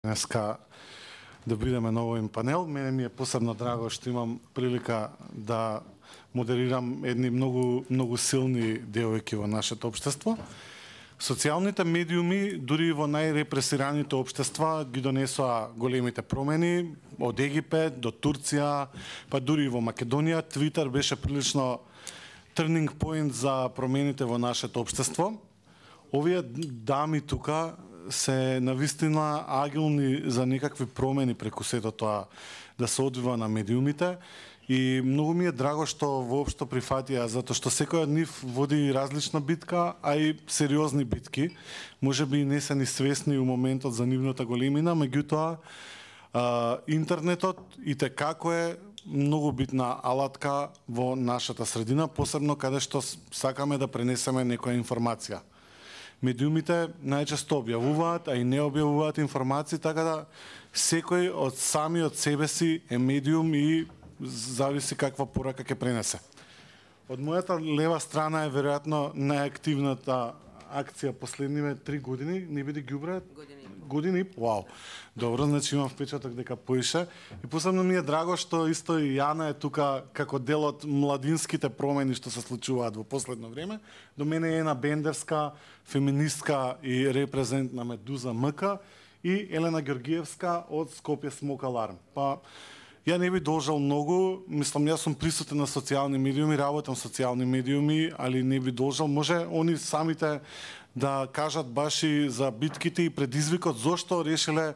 Днеска да бидеме на овој панел. Мене ми е посебно драго што имам прилика да модерирам едни многу силни девојки во нашето општество. Социјалните медиуми, дури во најрепресираните општества, ги донесоа големите промени, од Египет до Турција, па дури и во Македонија. Твитер беше прилично turning point за промените во нашето општество. Овие дами тука се навистина агилни за некакви промени преку сето тоа да се одвива на медиумите и многу ми е драго што воопшто прифатија, затоа што секој од нив води различна битка, а и сериозни битки. Можеби не се ни свесни у моментот за нивната големина, меѓутоа интернетот и те како е многу битна алатка во нашата средина, посебно каде што сакаме да пренесеме некоја информација. Медиумите најчесто објавуваат, а и не објавуваат информации, така да секој од самиот себе си е медиум и зависи каква порака ќе пренесе. Од мојата лева страна е веројатно најактивната акција последниве 3 години, не биде ѓубре? Години? Вау. Добро, значи имам впечаток дека поише. И посебно ми е драго што исто и Јана е тука како дел од младинските промени што се случуваат во последно време. До мене е една бендерска, феминистка и репрезент на Медуза МК и Елена Ѓоргиевска од Скопје Смок Аларм. Па ја не би должал многу, мислам, јас сум присутен на социјални медиуми, работам социјални медиуми, али не би должал. Може они самите да кажат баш и за битките и предизвикот, зошто решиле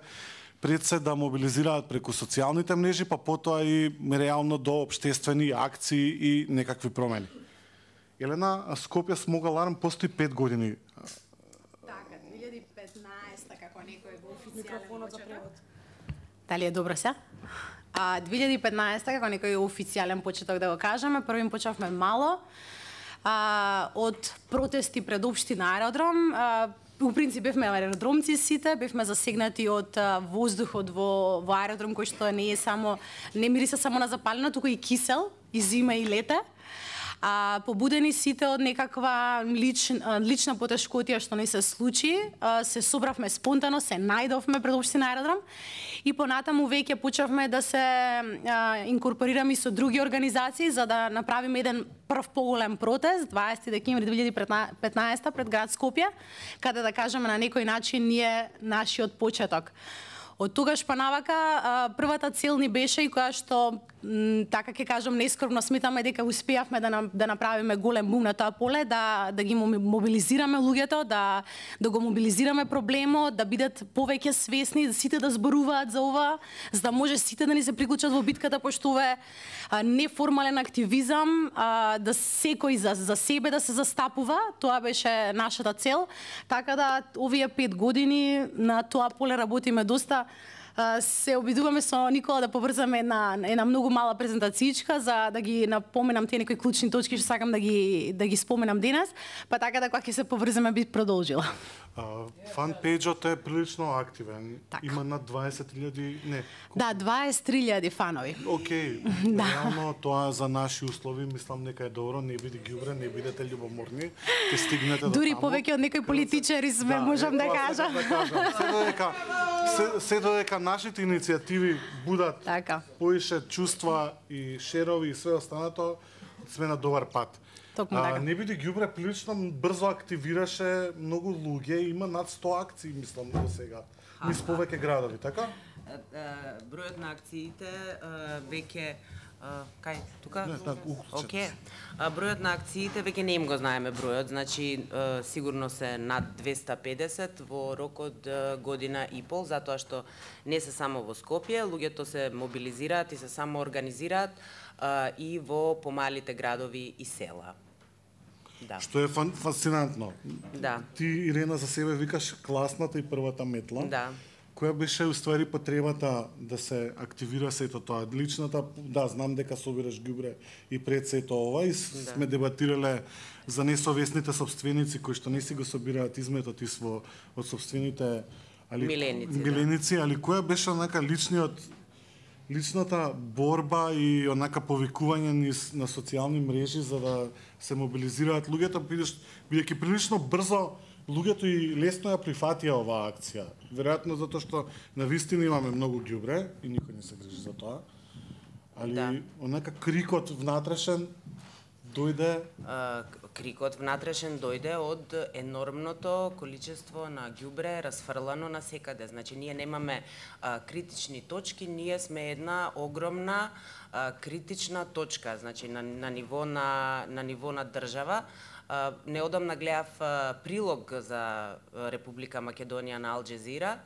пред се да мобилизираат преку социјалните мрежи, па потоа и реално до општествени акции и некакви промени. Елена, Скопје Смок Аларм постои 5 години. Така, 2015 како некој го официјален почеток. Дали е добро се? 2015 како некој официјален почеток да го кажеме, првим почнавме мало од протести пред општина Аеродром. У принцип бевме аеродромци сите, бевме засегнати од воздухот во аеродром кој што не мириса само на запалено, туку и кисел, и зима и лете. Побудени сите од некаква лична потешкотија што не се случи, се собравме спонтано, се најдовме пред општина Аеродром и понатаму веќе почнавме да се инкорпорираме со други организации за да направиме еден прв поголем протест 20 декември 2015 пред град Скопје, каде да кажеме на некој начин ние нашиот почеток. Од тогаш па навака првата цел ни беше и која што така ќе кажам нескромно сметаме дека успеавме да направиме голем бум на тоа поле, да ги мобилизираме луѓето, да го мобилизираме проблемот, да бидат повеќе свесни, да сите да зборуваат за ова, за да може сите да ни се приклучат во битката, пошто ова е неформален активизам, да секој за себе да се застапува, тоа беше нашата цел. Така да овие 5 години на тоа поле работиме доста. Се обидуваме со Никола да поврзаме една многу мала презентацијичка за да ги напоменам тие некои клучни точки што сакам да ги споменам денес, па така да кога ќе се поврземе би продолжила. Фан пејџот е прилично активен. Так. Има над 20.000, не. Да, 23.000 фанови. Океј. Реално тоа за наши услови мислам дека е добро, не биде ѓубре, не бидете љубоморни, ќе стигнете до таму. Дури повеќе од некои политичари сме, можам да кажам. Се додека нашите иницијативи будат поише чувства и шерови и све останато, сме на добар пат. Не биде ѓубре прилично брзо активираше многу луѓе, има над 100 акции, мислам, до сега. Низ повеќе градови, така? Бројот на акциите веќе кај тука? Океј. Бројот на акциите веќе не им го знаеме бројот, значи сигурно се над 250 во рок од година и пол, затоа што не се само во Скопје, луѓето се мобилизираат и се само организираат и во помалите градови и села. Да. Што е фасцинантно. Да. Ти, Ирена, за себе викаш класната и првата метла. Да. Која беше уствари потребата да се активира сето тоа? Личната, да, знам дека собираш ѓубре и пред сето ова и сме дебатирале за несовесните собственици кои што не си го собираат изметот од собствените миленици, али која беше онака личната борба и онака повикување на социјални мрежи за да се мобилизираат луѓето, бидејќи прилично брзо луѓето и лесно ја прифатија оваа акција. Веројатно затоа што на вистина имаме многу ѓубре и никој не се грижи за тоа. Али онака крикот внатрешен дојде... Крикот внатрешен дојде од енормното количество на ѓубре расфрлано на секаде. Значи, ние немаме критични точки, ние сме една огромна критична точка, значи на ниво на држава. Неодамна гледав прилог за Република Македонија на Ал Джезира,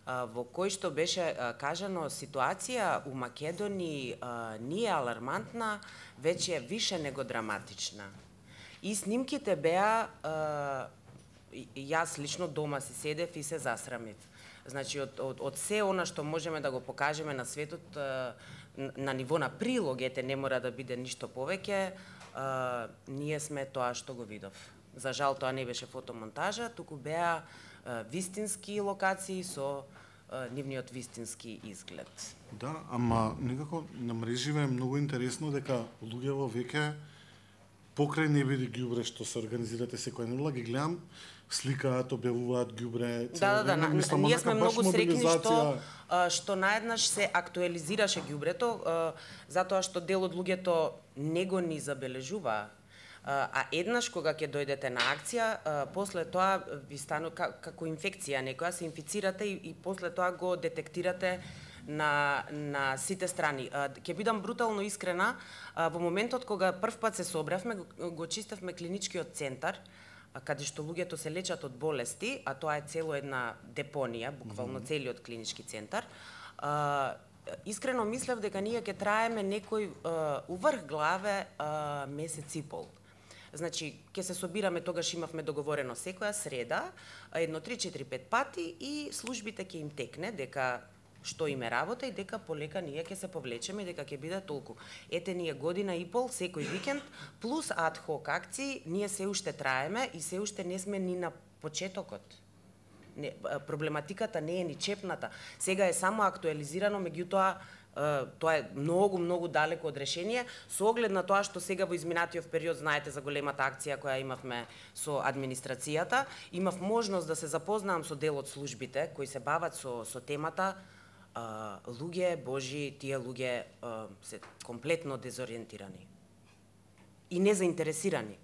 во кој што беше кажано ситуација у Македонија не е алармантна, веќе е више него драматична. И снимките беа, јас лично дома си седев и се засрамив. Значи, од се она што можеме да го покажеме на светот на ниво на прилог, ете, не мора да биде ништо повеќе, ние сме тоа што го видов. За жал, тоа не беше фотомонтажа, туку беа вистински локации со нивниот вистински изглед. Да, ама некако на мреживе е многу интересно дека луѓето веќе покрај небеди ѓубре што се организирате секоја недела, ги гледам, сликаат, објавуваат ѓубре. Да, ние сме многу среќни што наеднаш се актуализираше ѓубрето, затоа што дел од луѓето не го ни забележува. А еднаш кога ќе дојдете на акција, после тоа ви станува како инфекција, некоја се инфицирате и после тоа го детектирате на сите страни. Ќе бидам брутално искрена, во моментот кога првпат се собравме, го чистевме клиничкиот центар, каде што луѓето се лечат од болести, а тоа е цело една депонија, буквално целиот клинички центар. Искрено мислев дека ние ќе траеме некој уврх главе месец и пол. Значи, ќе се собираме, тогаш имавме договорено секоја среда, едно 3-4-5 пати и службите ќе им текне дека што им е работа и дека полека ние ќе се повлечеме и дека ќе биде толку. Ете, ние година и пол, секој викенд, плюс ад-хок акции, ние се уште траеме и се уште не сме ни на почетокот. Проблематиката не е ни чепната. Сега е само актуализирано, меѓутоа, тоа е многу далеко од решение, со оглед на тоа што сега во изминатиот период, знаете за големата акција која имавме со администрацијата, имав можност да се запознаам со дел од службите кои се бават со темата. Луѓе божи, тие луѓе се комплетно дезориентирани и незаинтересирани.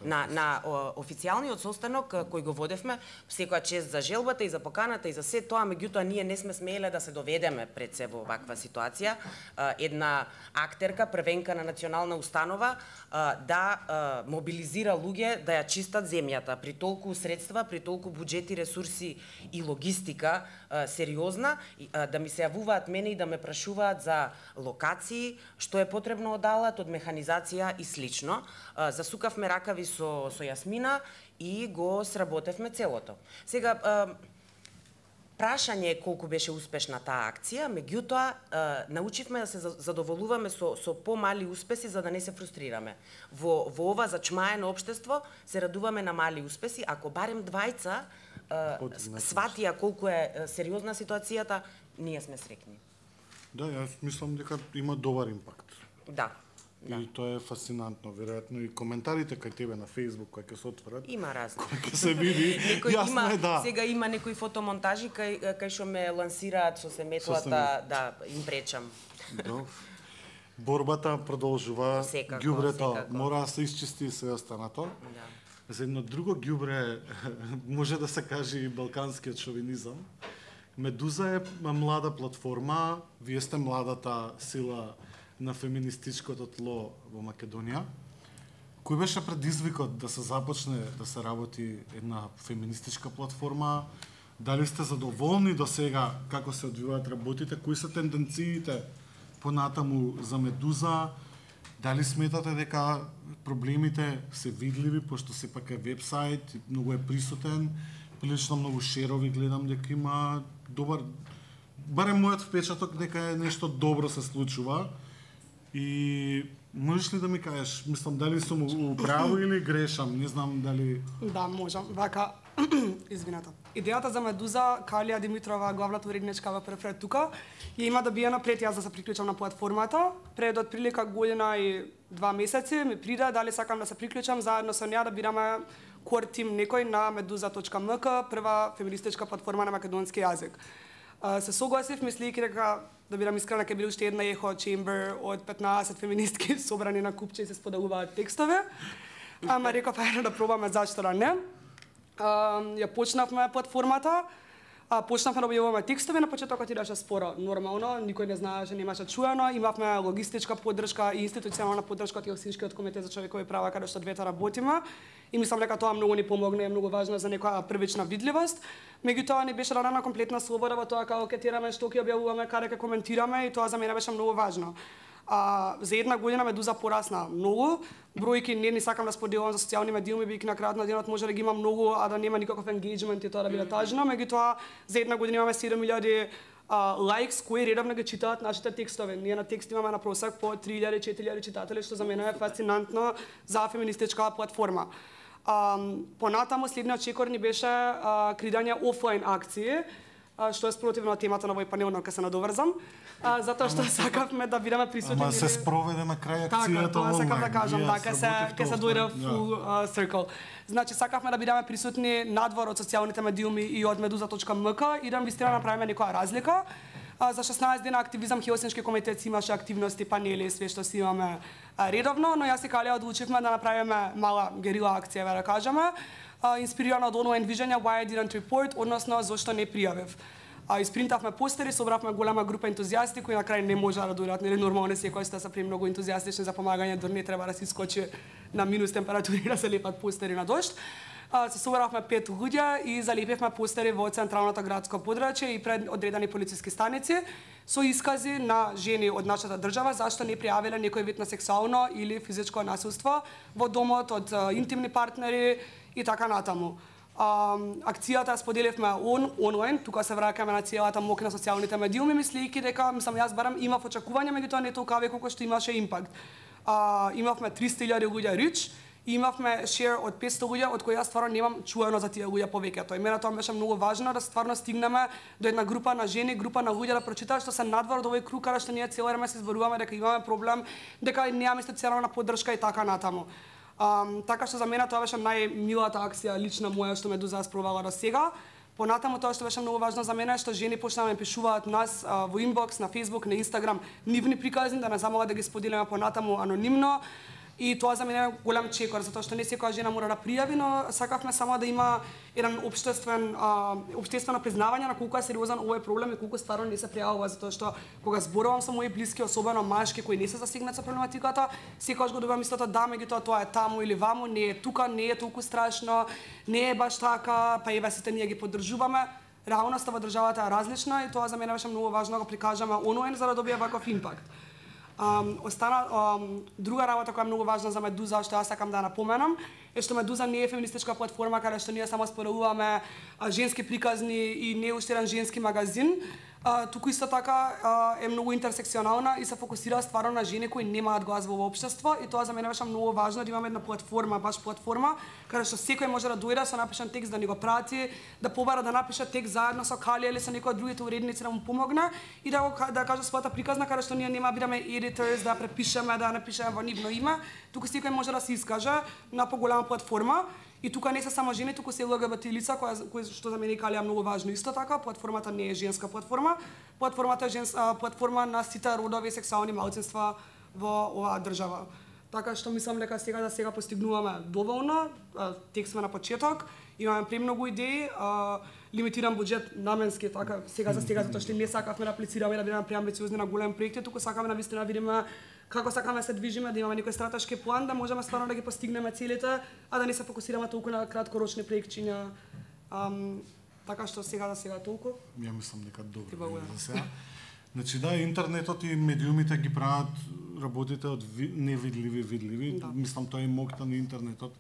На официјалниот состанок кој го водевме, секоја чест за желбата и за поканата и за се тоа, меѓутоа ние не сме смееле да се доведеме пред се во ваква ситуација. Една актерка, првенка на национална установа, да мобилизира луѓе да ја чистат земјата при толку средства, при толку буџети, ресурси и логистика сериозна, да ми се јавуваат мене и да ме прашуваат за локации, што е потребно од алат, од механизација и слично. Засукавме ракави со Јасмина и го сработевме целото. Сега, прашање е колку беше успешна таа акција, меѓутоа научивме да се задоволуваме со помали успеси за да не се фрустрираме. Во ова зачмаено општество се радуваме на мали успеси, ако барем двајца сватија колку е сериозна ситуацијата, ние сме среќни. Да, јас мислам дека има добар импакт. Да. И тоа е фасцинантно, веројатно и коментарите кај тебе на Facebook кои ќе се отворат. Има разни. Кои ќе се види. Јасно е, да. Сега има некои фотомонтажи кај што ме лансираат со семејствата, да им пречам. Да. Борбата продолжува. Ѓубрето мора да се исчисти и се останато. Да. За едно друго ѓубре може да се каже и балканскиот шовинизам. Медуза е млада платформа, вие сте младата сила на феминистичкото тло во Македонија. Кој беше предизвикот да се започне да се работи една феминистичка платформа? Дали сте задоволни до сега како се одвиваат работите? Кои се тенденциите понатаму за Медуза? Дали сметате дека проблемите се видливи, пошто сепак е вебсайт, многу е присутен, прилично многу шерови гледам дека има добар, барем мојот впечаток дека е нешто добро се случува. И можеш ли да ми кажеш, мислам, дали сум управо или грешам, не знам дали... Да, можам. Вака, извинете. Идејата за Медуза, Калија Димитрова, главната уредничка во прв ред тука, ја има да бија напред јас да се приклучам на платформата. Пред отприлика година и 2 месеци ми приде дали сакам да се приклучам заедно со неа да бидеме core team некој на meduza.mk, прва феминистичка платформа на македонски јазик. Се согласив, мислејќи дека, да бидам искрена, ќе биде уште една ехо чембер од 15 феминистки собрани на купче и се споделуваат текстове. Ама реков, ајде да пробаме, зашто да не. Ја почнавме платформата, почнавме да објавуваме текстови, на почетокот идеше споро, нормално, никој не знаеше, немаше чуено, имавме логистичка поддршка и институционална поддршка од Хелсинскиот комитет за човекови права, каде што двете работиме, и мислам дека тоа многу ни помогна и е многу важно за некоја првична видливост. Меѓутоа ни беше дадена комплетна слобода во тоа како ќе тераме, што ќе објавуваме, каде ќе коментираме, и тоа за мене беше многу важно. За една година Медуза порасна многу. Бројки не сакам да споделувам за социјални медиуми, бидејќи на крајот на денот може да ги има многу, а да нема никаков енгејџмент и тоа да биде тажно. Меѓутоа, за една година имаме 7000 лајкс кои редовно ги читаат нашите текстови. Ние на текст имаме на просек по 3000-4000 читатели, што за мене е фасцинантно за феминистичка платформа. Понатаму следниот чекор ни беше креирање офлайн акции, што е спротивно од темата на овој панел, но ќе се надоврзам, затоа што сакавме да бидеме присутни. Ама се спроведе на крај акцијата. Така, тоа сакам да кажам, ќе се дојде full circle. Значи, сакавме да бидеме присутни надвор од социјалните медиуми и од meduza.mk и да вистина направиме некоја разлика. За 16 дена активизам Хелсински комитет имаше активности, панели, све што си имаме редовно, но јас и Калија одлучивме да направиме мала герила акција, да кажеме, инспирирана од онлайн вижење Why I Didn't Report, односно зошто не пријавив. Испринтавме постери, собравме голема група ентузијасти кои на крај не можа да дојдат, нели нормално секој што се премногу ентузијастични за помагање, дури не треба да се искочи на минус температури да се лепат постери на дожд. Се собравме 5 луѓе и залепивме постери во централното градско подрачје и пред одредени полициски станици со искази на жени од нашата држава зашто не пријавиле некој вид на сексуално или физичко насилство во домот од интимни партнери и така натаму. Акцијата споделивме онлайн, тука се враќаме на целата мок на социјалните медиуми, мислејќи дека, јас барам имав очекување, меѓутоа не толку колку што имаше импакт. Имавме 300.000 луѓе рич, и имавме шер од 500 луѓе, од кои јас стварно немам чуено за тие луѓе повеќето. И мене тоа беше многу важно да стварно стигнеме до една група на жени, група на луѓе да прочитаат што се надвор од овој круг, каде што ние цело време се зборуваме дека имаме проблем, дека немаме институционална поддршка и така натаму. Така што за мене тоа беше најмилата акција лична моја што Медуза спробала до сега. Понатаму тоа што беше многу важно за мене е што жени почнаа да ме пишуваат нас во инбокс, на Facebook, на Instagram, нивни приказни, да не замолат да ги споделиме понатаму анонимно. И тоа за мене е голем чекор, затоа што не секоја жена мора да пријави, но сакавме само да има еден општествено признавање на колку е сериозен овој проблем и колку стварно не се пријавува, затоа што кога зборувам со мои блиски, особено машки кои не се засегнати со проблематиката, секогаш го добивам истото да, меѓутоа тоа е таму или ваму, не е тука, не е толку страшно, не е баш така, па еве сите ние ги поддржуваме. Реалноста во државата е различна и тоа за мене беше многу важно да го прикажаме онлайн за да добие ваков импакт. Друга работа која е многу важна за Медуза, што јас сакам да напоменам, е што Медуза не е феминистичка платформа каде што ние само споделуваме женски приказни и не е уште еден женски магазин. Туку исто така е многу интерсекционална и се фокусира стварно на жени кои немаат глас во општество и тоа за мене беше многу важно да имаме една платформа, баш платформа, каде што секој може да дојде со напишан текст да ни го прати, да побара да напише текст заедно со Калија или со некој од другите уредници да му помогне и да каже својата приказна каде што ние нема бидеме editors да препишеме, да напишеме во нивно име, туку секој може да се искаже на поголема платформа. И тука не се само жени, туку се ЛГБТ лица, кои што за мене Калија многу важно исто така. Платформата не е женска платформа. Платформата е платформа на сите родови и сексуални малцинства во оваа држава. Така што мислам дека сега постигнуваме доволно. Тек сме на почеток, имаме премногу идеи, лимитиран буџет наменски, така сега затоа што не сакавме да аплицираме да бидеме преамбициозни на голем проекти, туку сакаме на вистина видиме како сакаме да се движиме, да имаме некој стратешки план, да можеме стварно да ги постигнеме целите, а да не се фокусираме толку на краткорочни проектчиња. Така што сега толку. Ја мислам дека добро за сега. Значи да, интернетот и медиумите ги прават работите од невидливи. Да. Мислам тоа е моќта на интернетот.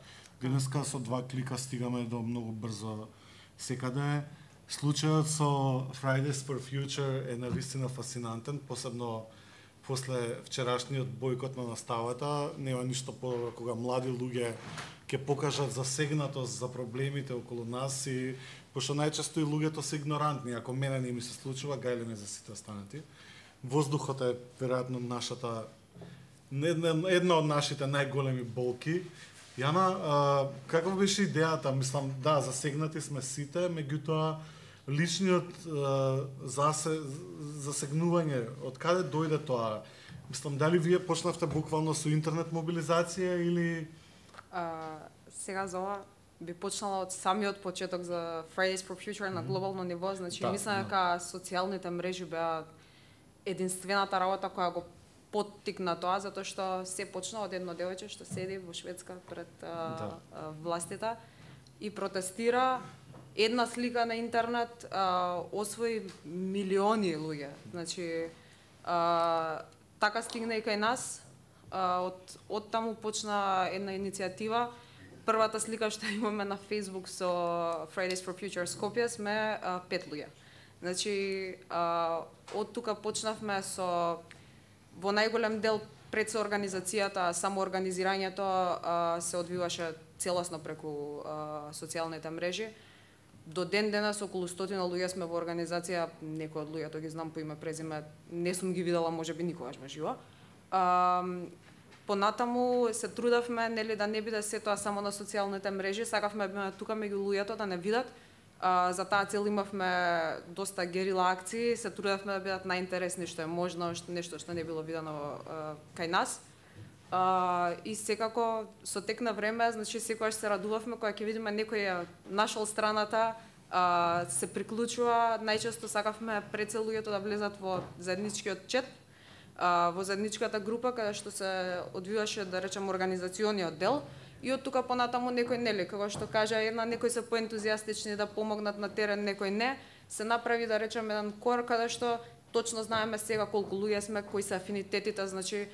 Денеска со 2 клика стигаме до многу брзо секаде. Случајот со Fridays for Future е навистина фасцинантен, посебно после вчерашниот бојкот на наставата. Нема ништо подобро кога млади луѓе ќе покажат засегнатост за проблемите околу нас и пошто најчесто и луѓето се игнорантни. Ако мене не ми се случува, гајле ме за сите останати. Воздухот е веројатно една од нашите најголеми болки. Јана, каква беше идејата? Мислам, да, засегнати сме сите, меѓутоа личниот засегнување, од каде дојде тоа? Мислам, дали вие почнавте буквално со интернет мобилизација или... Сега за ова би почнала од самиот почеток за Fridays for Future на глобално ниво, значи мислам дека социјалните мрежи беа единствената работа која го поттикна тоа, затоа што се почна од едно девојче што седи во Шведска пред властите и протестира. Една слика на интернет освои милиони луѓе. Значи, така стигна и кај нас. Од таму почна една иницијатива. Првата слика што имаме на Facebook со Fridays for Future Skopje сме 5 луѓе. Значи, од тука почнавме со во најголем дел пред соорганизацијата, самоорганизирањето се одвиваше целосно преку социјалните мрежи. До ден денес околу 100 луѓе сме во организација, некои од луѓето ги знам по име презиме, не сум ги видела можеби никогаш во живо. Понатаму се трудавме нели да не биде се тоа само на социјалните мрежи, сакавме да биме тука меѓу луѓето да не видат. За таа цел имавме доста герила акции, се трудевме да бидат најинтересни што е можно, нешто што не било видено кај нас. И секако со тек на време, значи секогаш се радувавме кога ќе видиме некој ја нашол страната, се приклучува, најчесто сакавме прецел луѓето да влезат во заедничкиот чат, во заедничката група каде што се одвиваше, да речем, организациониот дел. И од тука понатаму некој нели, како што кажа една, некои се поентузијастични да помогнат на терен, некој не, се направи да речем еден кор каде што точно знаеме сега колку луѓе сме, кои се афинитетите, значи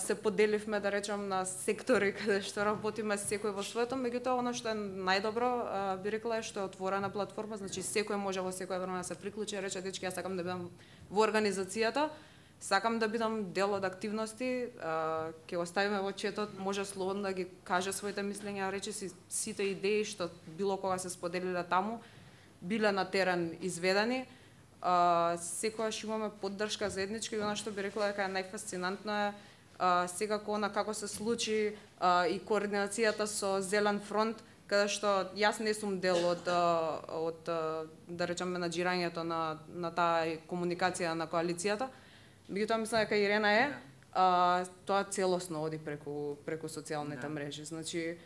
се поделивме да речем на сектори каде што работиме секој во своето, меѓутоа она што е најдобро, би рекла, е што е отворена платформа, значи секој може во секое време да се приклучи, рече дечки, јас сакам да бидам во организацијата. Сакам да бидам дел од активности, ќе го ставиме во четот, може слободно да ги каже своите мислења, рече си сите идеи што било кога се споделиле таму, биле на терен изведени. Секогаш имаме поддршка заедничка и она што би рекла дека е најфасцинантно е секако она како се случи и координацијата со Зелен фронт, каде што јас не сум дел од да речем менаџирањето на таа комуникација на коалицијата. Меѓутоа мислам дека Ирена е, тоа целосно оди преку социјалните мрежи. Значи,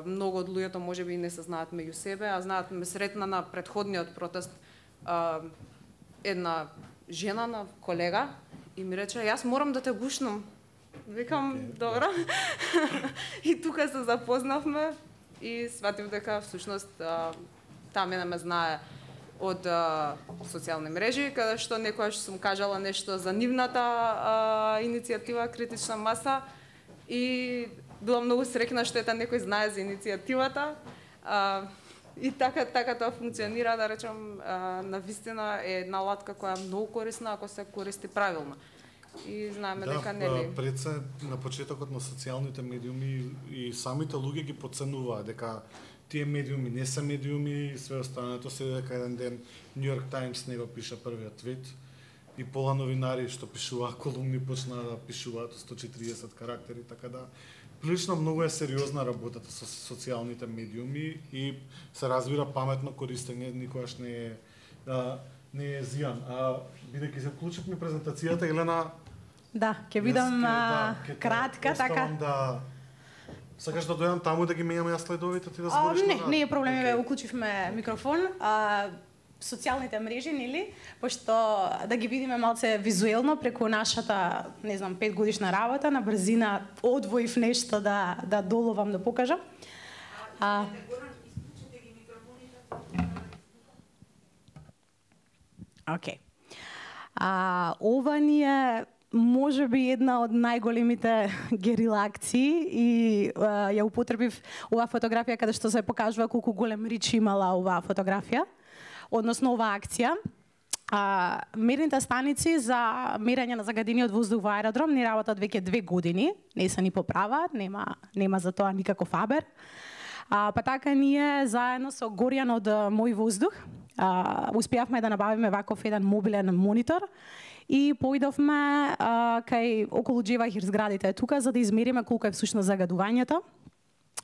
многу од луѓето можеби и не се знаат меѓу себе, а знаат, ме сретна на претходниот протест една жена на колега и ми рече, јас морам да те гушнам. Викам, добро. И тука се запознавме и сватив дека всушност таа мене ме знае од социјални мрежи, каде што некојаш сум кажала нешто за нивната иницијатива Критична маса и била многу среќна што ета некој знае за иницијативата. И така тоа функционира, да речем, навистина е една латка која е многу корисна ако се користи правилно. И знаеме дека нели. Да, пред се на почетокот на социјалните медиуми и самите луѓе ги подценуваат дека тие медиуми не се медиуми и све останато, се дека еден ден New York Times не го пиша првиот твит и пола новинари што пишуваа колумни почнаа да пишуваат 140 карактери, така да прилично многу е сериозна работата со социјалните медиуми и се разбира паметно користење, никогаш не е зијан. Бидејќи се вклучивме презентацијата, Елена. Да, ќе бидам кратка, така. Сакаш да дојдам таму да ги менјаме ја слайдовите, ти да збориш? Не е проблем, ве уклучивме микрофон. Социјалните мрежи, нели? Пошто да ги видиме малце визуелно преку нашата, не знам, 5 годишна работа, на брзина одвоив нешто да доловам да покажам. Окей. Ова ни е можеби една од најголемите герила акции и ја употребив оваа фотографија каде што се покажува колку голем рич имала оваа фотографија, односно оваа акција. Мерните станици за мерење на загадениот воздух во аеродром не работат веќе 2 години, не се ни поправаат, нема за тоа никаков абер. Па така ние заедно со Горјан од Мој воздух успеавме да набавиме ваков еден мобилен монитор и поидовме кај околу Джевахир зградите тука за да измериме колку е всушност загадувањето.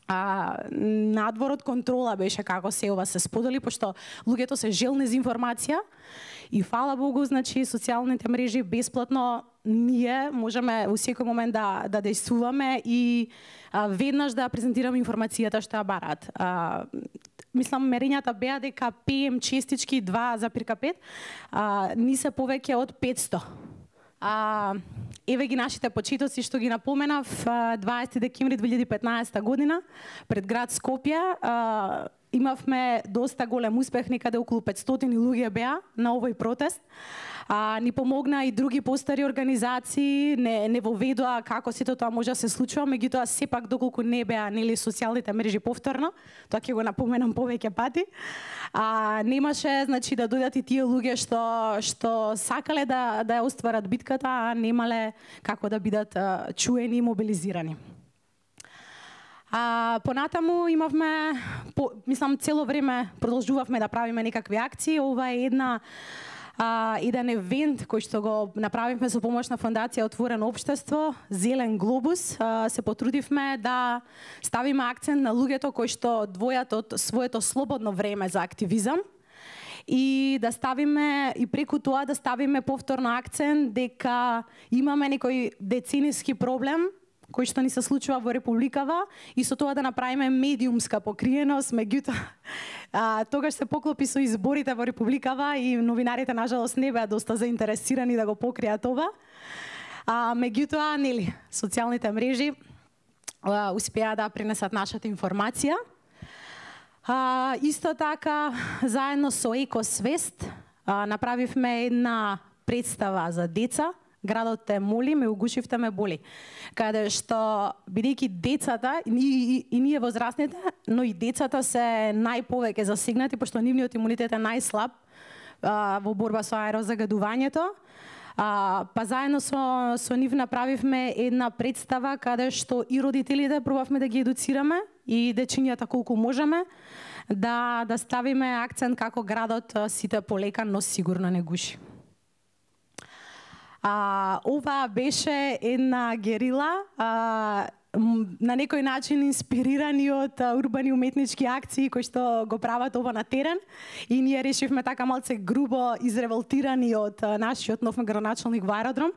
надвор од контрола беше како се ова се сподели, пошто луѓето се желни за информација и фала Богу, значи социјалните мрежи бесплатно ние можеме во секој момент да дејствуваме и веднаш да презентираме информацијата што ја бараат. Мислам, мерењата беа дека PM честички 2,5 ни се повеќе од 500. Еве ги нашите почетоци што ги напоменав, 20 декември 2015 година пред град Скопје имавме доста голем успех, некаде околу 500 луѓе беа на овој протест. Ни помогна и други постари организации, не воведоа како сето тоа може да се случува, меѓутоа сепак доколку не беа нели социјалните мрежи повторно, тоа ќе го напоменам повеќе пати. Немаше значи да дојдат и тие луѓе што сакале да ја остварат битката, а немале како да бидат чуени и мобилизирани. Понатаму имавме, мислам цело време продолжувавме да правиме некакви акции. Ова е еден евент кој што го направивме со помош на Фондација Отворено општество, Зелен глобус. Се потрудивме да ставиме акцент на луѓето кои што двојат од своето слободно време за активизам и да ставиме и преку тоа да ставиме повторно акцент дека имаме некој децениски проблем кој што ни се случува во Републикава и со тоа да направиме медиумска покриеност, меѓутоа тогаш се поклопи со изборите во Републикава и новинарите нажалост не беа доста заинтересирани да го покријат ова. Меѓутоа, нели, социјалните мрежи успеа да пренесат нашата информација. Исто така, заедно со Екосвест направивме една представа за деца. Градот те моли, ме угушивте, ме боли. Каде што, бидејќи децата, и ние возрастните, но и децата се најповеќе засегнати, пошто нивниот имунитет е најслаб во борба со аерозагадувањето. Па заедно со нив направивме една представа каде што и родителите пробавме да ги едуцираме и дечињата колку можеме, да ставиме акцент како градот сите полека, но сигурно не гуши. Ова беше една герила, на некој начин инспирирани од урбани уметнички акции кои што го прават ова на терен и ние решивме така малце грубо изреволтирани од нашиот нов градоначалник во аеродром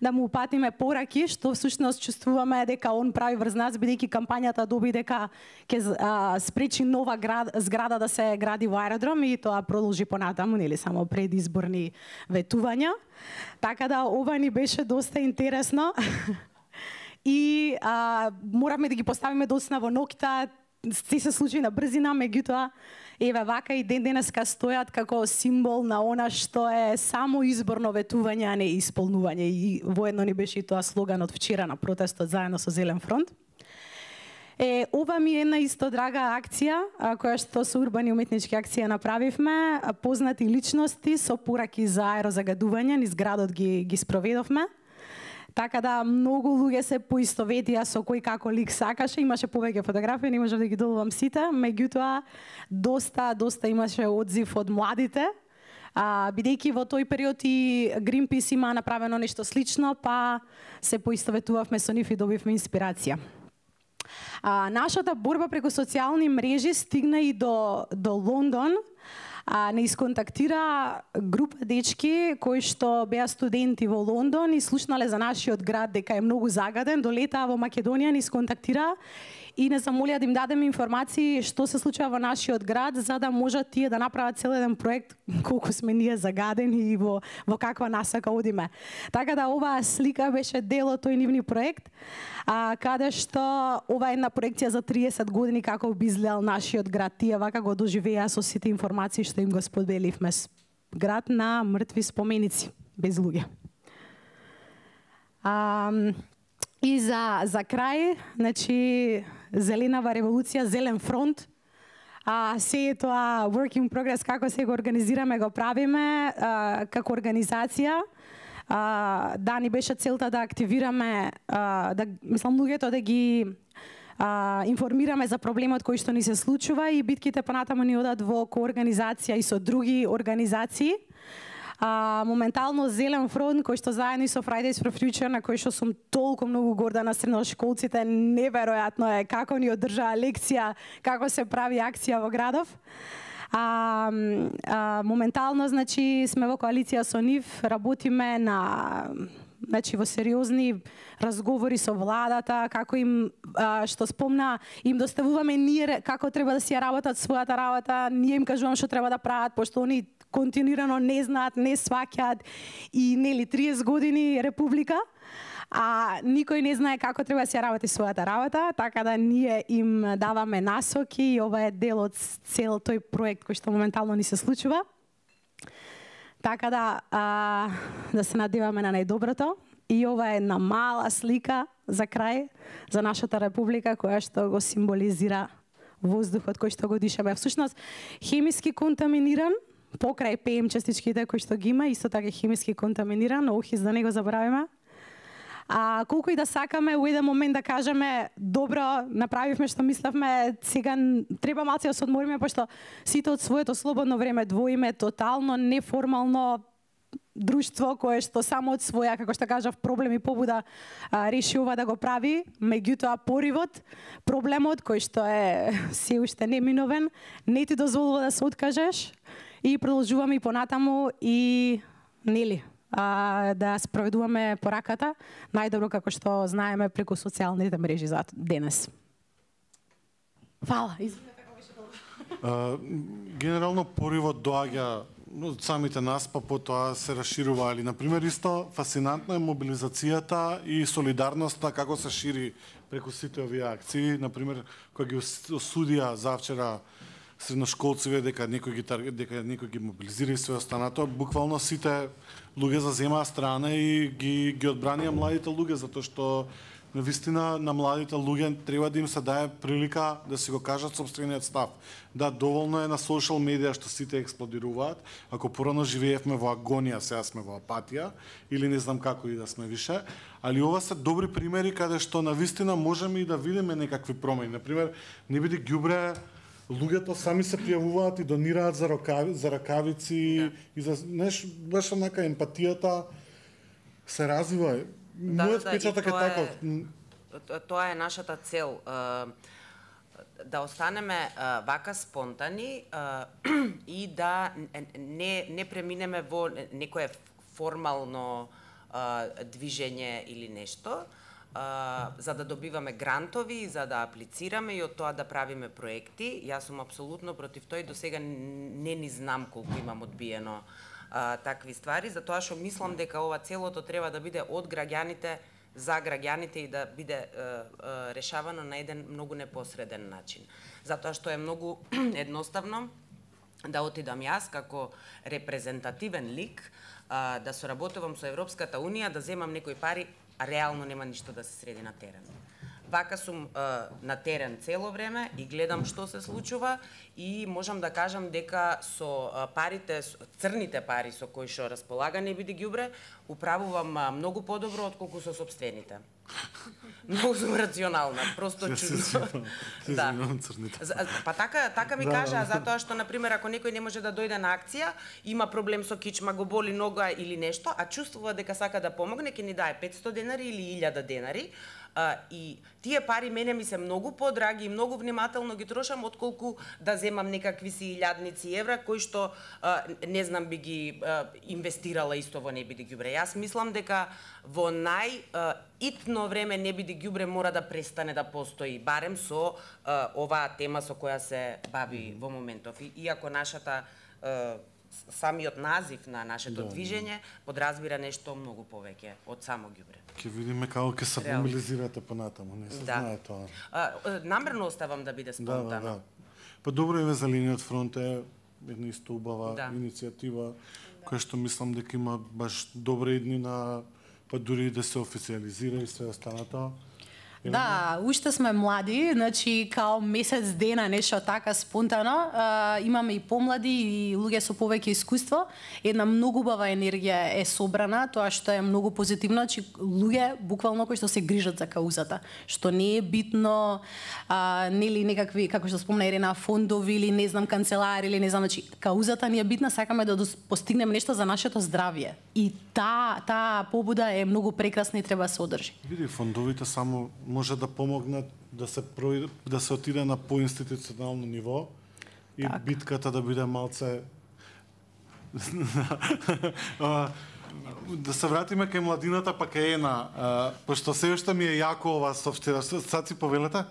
да му упатиме пораки што всушност чувствуваме дека он прави врз нас, бидејќи кампањата доби дека ќе спречи нова зграда да се гради во аеродром и тоа продолжи понатаму, нели само предизборни ветувања. Така да ова ни беше доста интересно. И моравме да ги поставиме доцна во ноќта, се случи на брзина, меѓутоа еве вака и ден денеска стојат како символ на она што е само изборно ветување, а не исполнување. И воедно ни беше и тоа слоган од вчера на протестот заедно со Зелен фронт. Ова ми е една исто драга акција, која што со урбани уметнички акција направивме. Познати личности со пораки за аерозагадување низ градот ги спроведовме. Така да многу луѓе се поистоветија со кој како лик сакаше, имаше повеќе фотографии, не можев да ги добивам сите, меѓутоа доста имаше одзив од младите, бидејќи во тој период и Greenpeace има направено нешто слично, па се поистоветувавме со нив и добивме инспирација. Нашата борба преку социјални мрежи стигна и до Лондон. Не исконтактира група дечки кои што беа студенти во Лондон и слушнале за нашиот град дека е многу загаден, долетаа во Македонија, не исконтактира и не замолија да им дадеме информации што се случува во нашиот град, за да можат тие да направат цел еден проект колку сме ние загадени и во каква насока одиме. Така да оваа слика беше дел од тој нивни проект, каде што ова е една проекција за 30 години како би изгледал нашиот град. Тие вака го доживеа со сите информации што им го споделивме. Град на мртви споменици, без луѓе. И за крај, значи, Зеленава револуција, Зелен фронт, се е тоа work in progress, како се го организираме, го правиме како организација. Да, ни беше целта да активираме, мислам, луѓето да ги информираме за проблемот кој што ни се случува и битките понатаму ни одат во коорганизација и со други организации. Моментално Зелен фронт, кој што заедно со Fridays for Future, на кој што сум толку многу горда на средношколците, неверојатно е како ни одржаа лекција, како се прави акција во градов. Моментално, значи, сме во коалиција со нив, работиме на во сериозни разговори со владата, како им, што спомна, им доставуваме ние како треба да си ја работат својата работа, ние им кажуваме што треба да прават, пошто они континуирано не знаат, не сваќаат и нели 30 години република, а никој не знае како треба да си ја работи својата работа, така да ние им даваме насоки и ова е дел од цел тој проект кој што моментално ни се случува. Така да се надеваме на најдоброто. И ова е една мала слика за крај, за нашата република, која што го символизира воздухот кој што го дишаме. Всушност, хемиски контаминиран, покрај ПМ частичките кои што ги има, исто така хемиски контаминиран, охиз да не го забравиме. Колку и да сакаме во еден момент да кажеме добро, направивме што мислевме, сега треба малце да се одмориме, пошто сите од своето слободно време двоиме тотално неформално друштво кое што само од своја, како што кажав, проблем и побуда реши ова да го прави, меѓутоа поривот, проблемот кој што е се уште неминовен, не ти дозволува да се откажеш и продолжуваме и понатаму и нели да спроведуваме пораката најдобро како што знаеме преку социјалните мрежи за денес. Фала. Генерално поривот доаѓа од самите нас, па потоа се расширува, али например исто фасцинантно е мобилизацијата и солидарноста како се шири преку сите овие акции, например кога ги осудија завчера средношколциве дека некој ги мобилизира и све останато, буквално сите луѓе заземаа страна и ги одбранија младите луѓе, затоа што навистина на младите луѓе треба да им се даде прилика да си го кажат сопствениот став. Да, доволно е на социјал медија што сите експлодираат. Ако порано живеевме во агонија, сега сме во апатија или не знам како и да сме више, али ова се добри примери каде што навистина можеме и да видиме некакви промени. Например, не биде ѓубре, луѓето сами се пријавуваат и донираат за ракавици и за баш онака емпатијата се развива. Мојот впечаток е таков. Тоа е нашата цел. Да останеме вака спонтани и да не преминеме во некое формално движење или нешто, за да добиваме грантови, за да аплицираме и од тоа да правиме проекти. Јас сум апсолутно против тој, до сега не ни знам колку имам одбиено такви ствари, затоа што мислам дека ова целото треба да биде од граѓаните за граѓаните и да биде решавано на еден многу непосреден начин. Затоа што е многу едноставно да отидам јас како репрезентативен лик, да соработувам со Европската Унија, да земам некои пари, а реално нема ништо да се среди на терен. Вака сум на терен цело време и гледам што се случува и можам да кажам дека со парите, црните пари со кои што располага не биде ѓубре, управувам многу подобро отколку со сопствените. Многу сум рационална, просто чудно. Да. Па така ми кажа, затоа што, например, ако некој не може да дојде на акција, има проблем со кичма, го боли нога или нешто, а чувствува дека сака да помогне, ќе ни дае 500 денари или 1000 денари, и тие пари мене ми се многу подраги и многу внимателно ги трошам отколку да земам некакви си илјадници евра кои што не знам би ги инвестирала исто во не биде ѓубре. Јас мислам дека во итно време не биде ѓубре мора да престане да постои, барем со оваа тема со која се бави во моментов. Иако нашата самиот назив на нашето движење подразбира нешто многу повеќе од само ѓубре. Ќе видиме како ќе се мобилизирате понатаму, не се знае тоа. Намерно оставам да биде спонтано. Па добро е за линијот фронт е една исто убава иницијатива која што мислам дека има баш добри иднина, па дури да се официализира и све останато. Да, уште сме млади, значи као месец дена нешто така спонтано, имаме и помлади и луѓе со повеќе искуство. Една многу убава енергија е собрана, тоа што е многу позитивно, значи луѓе буквално кои што се грижат за каузата, што не е битно нели некакви, како што спомна Ирена, фондови или не знам канцелари или не знам, значи каузата ни е битна, сакаме да постигнеме нешто за нашето здравје. И таа побуда е многу прекрасна и треба да се одржи. Види, фондовите само може да помогнат да се отиде на поинституционално ниво и так. Битката да биде малце да се вратиме кај младината па кај Ена, пошто се уште ми е јако ова софтвера. Сад си повелете?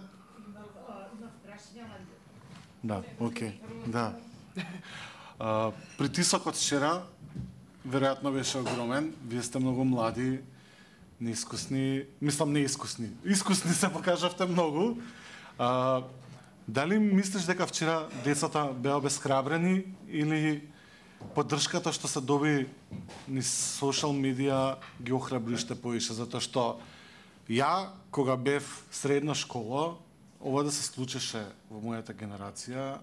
Да, окей, да. Притисокот вчера веројатно беше огромен. Вие сте многу млади, неискусни, мислам неискусни. Искусни се покажавте многу. Дали мислиш дека вчера децата беа обесхрабрени или поддршката што се доби низ социјал медија ги охрабри уште повише, затоа што ја кога бев средна школа, ова да се случеше во мојата генерација,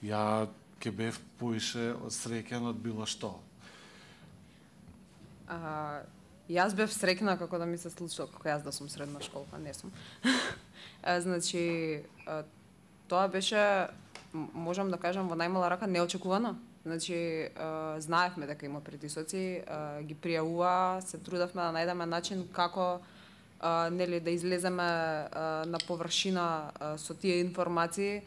ја ќе бев повише среќен од било што. Јас бев среќна како да ми се случило, како јас да сум средна школка, не сум. Значи, тоа беше, можам да кажам, во најмала рака неочекувано. Значи, знаевме дека има притисоци, ги пријавува, се трудевме да најдеме начин како нели да излеземе на површина со тие информации,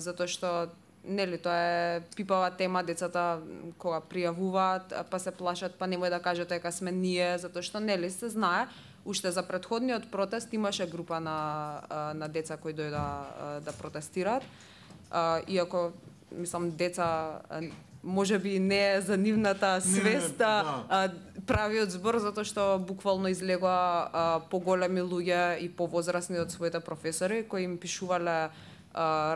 затоа што нели тоа е пипава тема, децата кога пријавуваат, па се плашат, па немој да кажете дека сме ние, затоа што нели се знае, уште за претходниот протест имаше група на деца кои дојда да протестираат. Иако мислам деца можеби не е за нивната свест правиот збор, затоа што буквално излегоа поголеми луѓе и повозрасни од своите професори кои им пишувале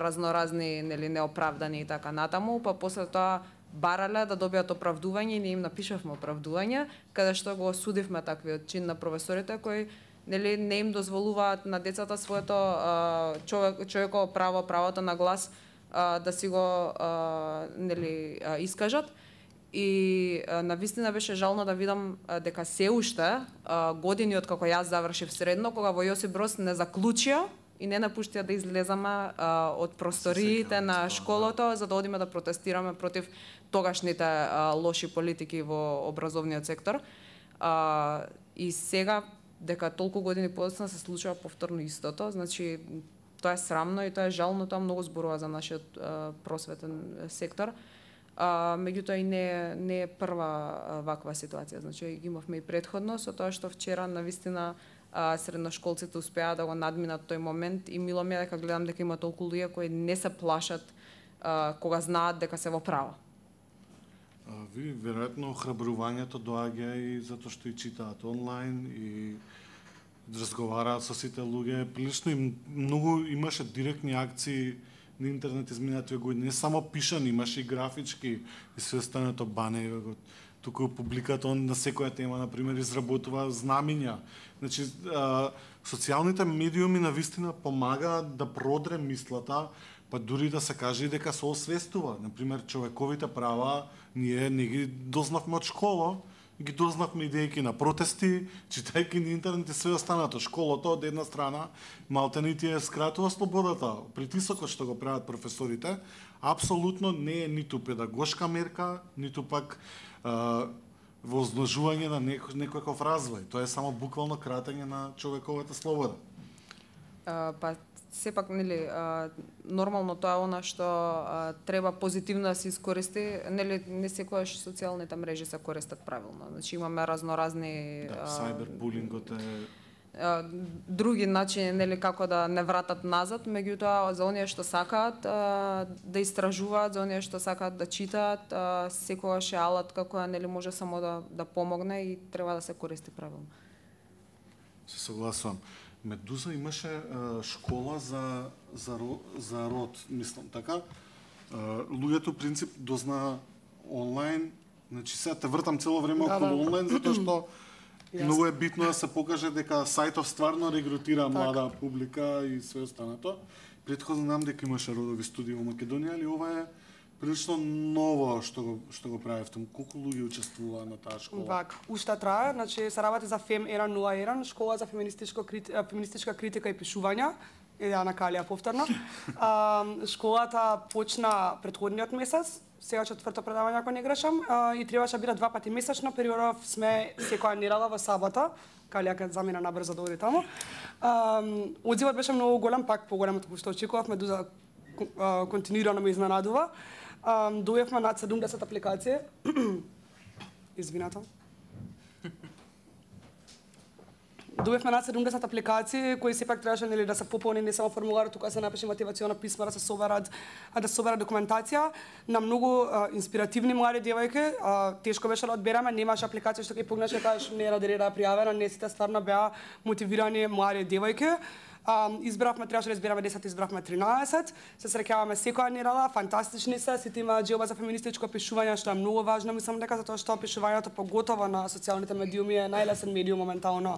разноразни нели неоправдани и така натаму, па после тоа барале да добијат оправдување и ние им напишавме оправдување, каде што го осудивме таквиот чин на професорите кои нели не им дозволуваат на децата своето човеково право, правото на глас да си го нели искажат. И навистина беше жално да видам дека се уште години од како јас завршив средно, кога во Јосип Брос не заклучија и не напуштија да излезаме од просториите на школото за да одиме да протестираме против тогашните лоши политики во образовниот сектор. И сега, дека толку години подоцна се случува повторно истото, значи тоа е срамно и тоа е жално, тоа многу зборува за нашиот просветен сектор. Меѓутоа и не е прва ваква ситуација, значи ги имавме и претходно со тоа што вчера навистина средношколците успеа да го надминат тој момент и мило ми е дека гледам дека има толку луѓе кои не се плашат кога знаат дека се во право. Ви веројатно охрабрувањето доаѓа и затоа што и читаат онлайн и разговараат со сите луѓе. Прилично и многу имаше директни акции на интернет изминативе години, не само пишани, имаше и графички и се останато бане. Туку публиката он на секоја тема, например, изработува знамиња. Значи, социјалните медиуми навистина помагаат да продре мислата, па дури да се каже и дека се освестува. Например, човековите права ние не ги дознавме од школа, ги дознавме идејки на протести, читајки на интернет и све останато. Школото од една страна малте не ти е скратува слободата. Притисокот што го прават професорите апсолутно не е ниту педагошка мерка, ниту пак во озножување на некојаков развој. Тоа е само буквално кратење на човековата слобода. Па сепак нели нормално тоа е она што треба позитивно да се искористи, нели не секогаш социјалните мрежи се користат правилно. Значи имаме разноразни сайбербулингот е други начини нели како да не вратат назад, меѓутоа за оние што сакаат да истражуваат, за оние што сакаат да читаат, секогаш е алат како нели може само да помогне и треба да се користи правилно. Се согласувам. Медуза имаше школа за род, мислам, така. Луѓето принцип дозна онлайн, значи сега те вртам цело време околу онлайн, затоа што Многу е битно да се покаже дека сајтов стварно регрутира млада публика и све останато. Претходно знам дека имаше родови студии во Македонија, али ова е прилично ново што го правевте. Колку луѓе учествува на таа школа? Вак, уште трае, значи се работи за FEM 101, школа за феминистичка критика и пишување. Ана Калија повторно. Школата почна претходниот месец, сега четврто предавање ако не грешам, и требаше да биде 2 пати месечно, периодов сме секоја недела во сабота. Калија ке замина набрзо да оди таму. Одзивот беше многу голем, пак поголем од што очекувавме, Дуза континуирано ме изненадува. Дојавме над 70 апликации. Извинете. Дојавме над 70 апликации кои сепак требаше нели да се пополни не само формуларот, тука се напише мотивационо писмо, да се соберат документација на многу инспиративни млади девојки. Тешко беше да одбереме, немаше апликација што ќе погнеш да кажеш не ради реда пријавена, не сите стварно беа мотивирани млади девојки. Избравме, требаше да избереме 10, избравме 13. Се среќаваме секоја недела, фантастични се, сите имаат џелба за феминистичко пишување, што е многу важно, мислам дека затоа што пишувањето поготово на социјалните медиуми е најлесен медиум моментално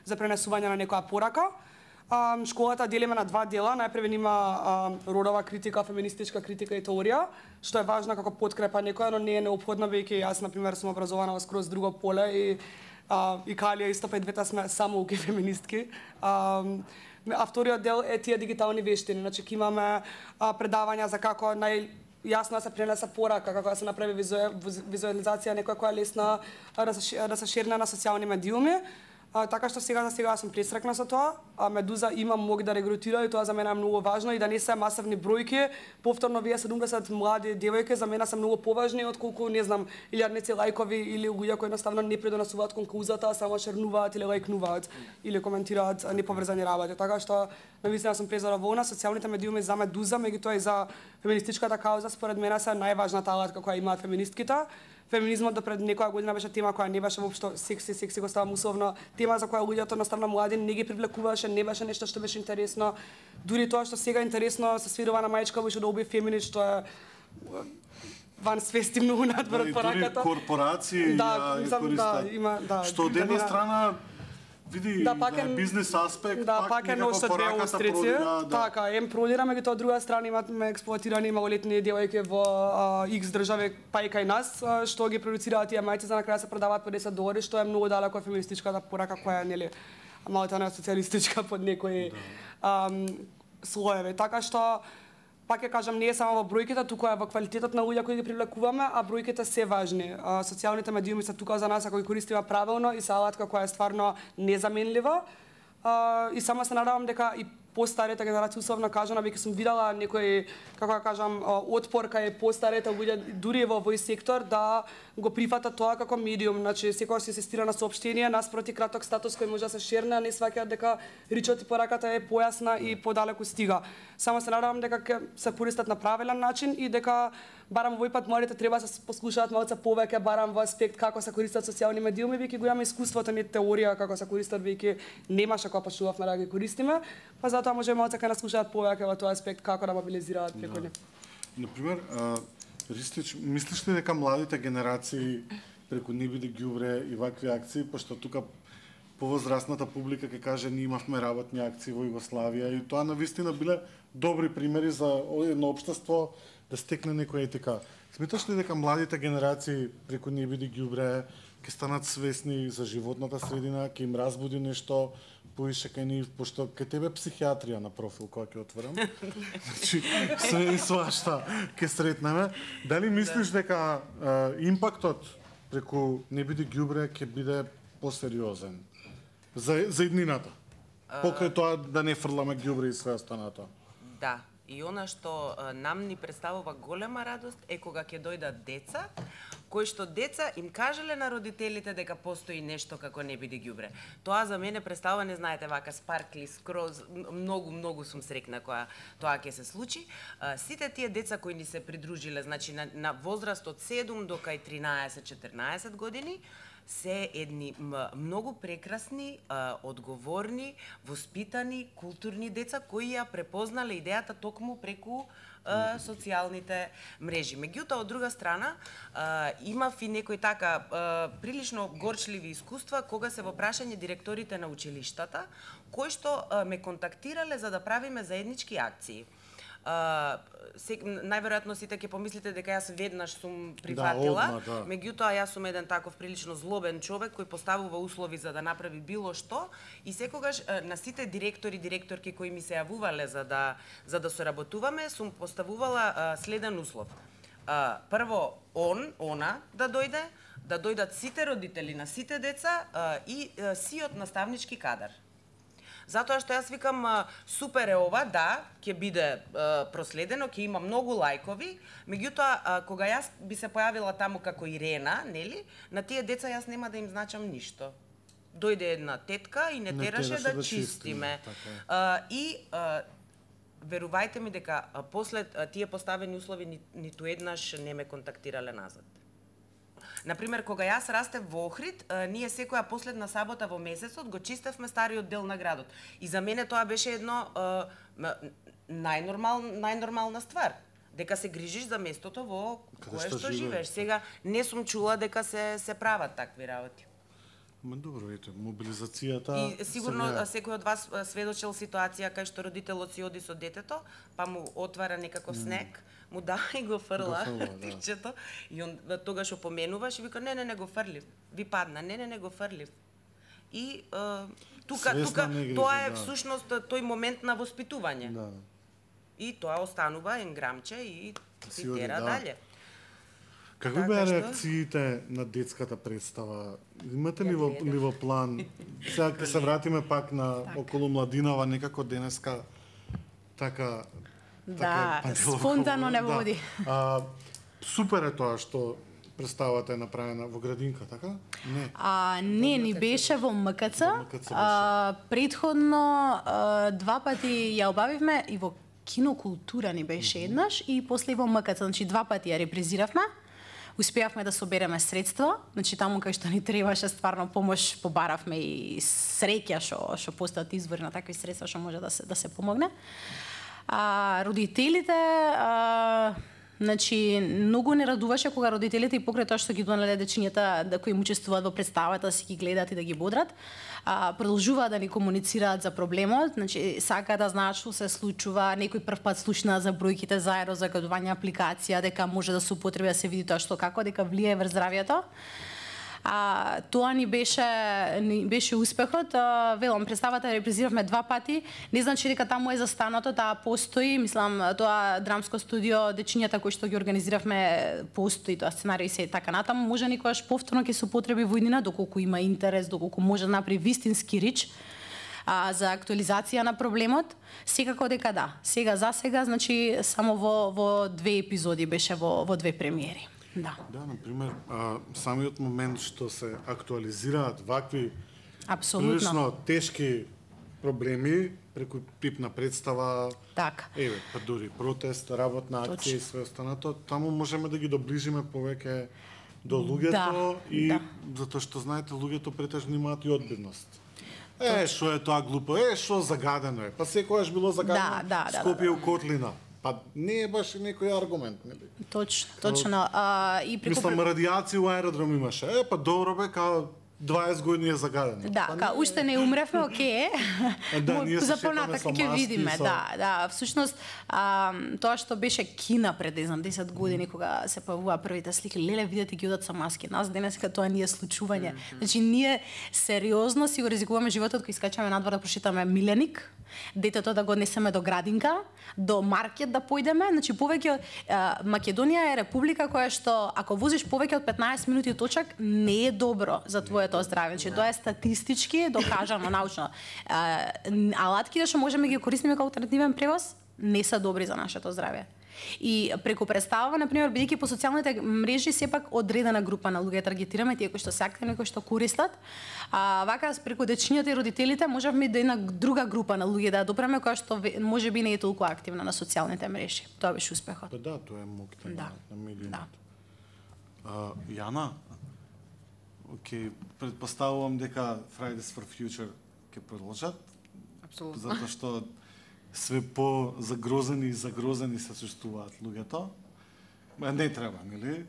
за пренесување на некоја порака. Школата делиме на 2 дела. Најпрв има родова критика, феминистичка критика и теорија, што е важна како подкрепа некоја, но не е неопходно, веќе јас на пример сум образована во скроз друго поле и Калија исто па и двете сме само уки феминистки. А вториот дел е тие дигитални вештини, значи ќе имаме предавања за како јасно да се пренесе порака, како да се направи визуализација некоја која е лесна да се шерне на социјални медиуми. Така што сега сум пресрекна со тоа. Медуза има мог да регрутира и тоа за мене е многу важно и да не се масивни бројки. Повторно вие 70 млади девојки за мене се многу поважни отколку не знам илјадници лајкови или луѓе кои едноставно не придонесуваат кон каузата, само шернуваат или лајкнуваат или коментираат неповрзани работи. Така што навистина сум презадоволна. Социјалните медиуми за Медуза, меѓутоа и за феминистичката кауза според мене се најважната алатка која имаат феминистките. Феминизмот до пред некоја година беше тема која не беше воопшто секси го ставам условно, тема за која луѓето наставно млади не ги привлекуваше, не беше нешто што беше интересно. Дури тоа што сега е интересно се свирува на мајчка во да уби фемини, што е ван свести многу надвор од пораката. Дури корпорации ја користат. Што од една страна види бизнес аспект, пак е ношто две острици. Така, продираме ги тоа, од друга страна имаме експлоатирани малолетни девојки во X држави, па и кај нас, што ги продуцираат тие мајци за на крај се продаваат по $10, што е многу далеко од феминистичката порака која нели малку не социјалистичка под некои слоеви. Така што пак ќе кажам, не е само во бројките, туку е во квалитетот на луѓе кои ги привлекуваме, а бројките се важни. Социјалните медиуми се тука за нас ако ги користиме правилно и се алатка која е стварно незаменлива. И само се надевам дека и постарите генерации, условно кажано, веќе сум видела некој, како да кажам, отпор кај постарите луѓе дури во овој сектор да го прифатат тоа како медиум, значи секогаш се инсистира на соопштение, наспроти краток статус кој може да се шерне, а не сваќаат дека речот и пораката е појасна и подалеку стига. Само се надевам дека ќе се користат на правилен начин и дека барам овој пат младите треба да се послушаат малку повеќе барам во аспект како се користат социјални медиуми, веќе го имаме искуството, не теорија како се користат, веќе немаше кога почнувавме да ги користиме, па затоа може малку ќе нас слушаат повеќе во тој аспект како да мобилизираат преку нив. Например, Ристич, мислиш ли дека младите генерации преку Не биде ѓубре и вакви акции, пошто тука повозрастната публика ќе каже ние имавме работни акции во Југославија и тоа навистина биле добри примери за едно општество да стекне некоја етика. Сметаш ли дека младите генерации преку Не биде ѓубре ќе станат свесни за животната средина, ќе им разбуди нешто поише кај нив, пошто кај тебе психијатрија на профил која ќе отворам. Значи, све и свашта ќе сретнеме. Дали мислиш дека импактот преку Не биде ѓубре ќе биде посериозен за иднината? Покрај тоа да не фрламе ѓубре и све останато. Да. И она што нам ни представува голема радост е кога ќе дојдат деца, кои што деца им кажале на родителите дека постои нешто како Не биде ѓубре. Тоа за мене представува, не знаете, вака спаркли, скроз, многу сум срекна кога тоа ќе се случи. Сите тие деца кои ни се придружиле, значи на возраст од 7 до кај 13-14 години, се едни многу прекрасни, одговорни, воспитани, културни деца кои ја препознале идејата токму преку социјалните мрежи. Меѓутоа, од друга страна, имав и некои така прилично горчливи искуства кога се во прашање директорите на училиштата, кои што ме контактирале за да правиме заеднички акции. Најверојатно сите ќе помислите дека јас веднаш сум прифатила, меѓутоа јас сум еден таков прилично злобен човек кој поставува услови за да направи било што и секогаш на сите директорки кои ми се јавувале за да соработуваме, сум поставувала следен услов. Прво она да дојдат сите родители на сите деца и сиот наставнички кадар. Затоа што јас викам, супер е ова, да, ќе биде проследено, ќе има многу лајкови, меѓутоа, кога јас би се појавила таму како Ирена, нели, на тие деца јас нема да им значам ништо. Дојде една тетка и не тераше да чистиме. И верувајте ми дека после тие поставени услови ниту еднаш не ме контактирале назад. Например, кога јас растев во Охрид, ние секоја последна сабота во месецот го чистевме стариот дел на градот. И за мене тоа беше едно најнормална ствар. Дека се грижиш за местото во кое што живееш. Сега не сум чула дека се прават такви работи. Добро, ете, мобилизацијата... И сигурно секој од вас сведочел ситуација кај што родителот си оди со детето, па му отвара некаков снег, му дава и го фрла тикчето, и он тогаш опоменуваш и вика, не го фрлив, ви падна, не го фрлив. И тука тоа е всушност тој момент на воспитување. И тоа останува енграмче и си тера дале. Какви беа реакциите на детската представа? Имате ли во план? Сега ќе се вратиме пак на околу младинава, некако денеска така... Да, спонтано не води. Супер е тоа што представата е направена во градинка, така? Не. Не, ни беше во МКЦ. Предходно 2 пати ја обавивме и во кинокултура ни беше еднаш и после во МКЦ, значи 2 пати ја репризиравме. Успеавме да собереме средства, значи таму кај што ни требаше стварно помош, побаравме и среќа што постојат извори на такви средства што може да се помогне. Родителите, значи многу не радуваше кога родителите и покрај тоа што ги донале дечињата да кои учествуваат во представата, да си ги гледаат и да ги бодрат, продолжуваат да ни комуницираат за проблемот, значи сака да знаат што се случува, некој прв пат слушна за бројките за аерозагадување апликација, дека може да се употреби да се види тоа што како, дека влијае врз здравјето. Тоа ни беше успехот. Велам, представата репризиравме 2 пати. Не значи дека таму е застанато, таа постои. Мислам, тоа драмско студио, дечињата кои што ги организиравме, постои тоа сценарија и се така натаму. Може никогаш повторно ќе се употреби во иднина, доколку има интерес, доколку може да направи вистински рич за актуализација на проблемот. Секако дека да. Сега за сега, значи само во 2 епизоди беше во 2 премиери. Да, например, самиот момент што се актуализираат вакви прилично тешки проблеми преку пипна представа, така. Па дури протест, работна акција и све останато, таму можеме да ги доближиме повеќе до луѓето и затоа што знаете луѓето претежно имаат и одбивност. Што е тоа глупо, што загадено е. Па секогаш било загадено Скопје у котлина. Па не е баш некој аргумент, нели? Точно. И мислам, радиација у аеродром имаше. Па добро бе, као 20 години е загадено. Да, уште не умревме, окей. За понатак ќе видиме, да. Всушност, тоа што беше Кина пред 10 години, кога се појавува првите слики, леле, видете ги одат со маски. Нас денеска тоа не е случување. Значи, ние сериозно си го ризикуваме животот кој искачаме надвор да прошитаме миленик, детето да го однесеме до градинка, до маркет да појдеме. Значи, повеќе Македонија е република која што, ако возиш повеќе од 15 минути точак, не е добро за твоето здравје. Значи, тоа е статистички докажано, научно. Алатките што можеме ги користиме како алтернативен превоз, не се добри за нашето здравје. И преку представа, например, бидејќи по социјалните мрежи сепак одредена група на луѓе таргетираме, тие кои што се активни, кои што користат. Вака преку дечињата и родителите можевме да една друга група на луѓе да допреме која што можеби не е толку активна на социјалните мрежи. Тоа беше успехот. Да, тоа е моќта на медиумот. Јана, Океј, предпоставувам дека Fridays for Future ќе продолжат. Апсолутно. Затоа што све по-загрозени и загрозени се чувствуваат луѓето. Не треба, нели?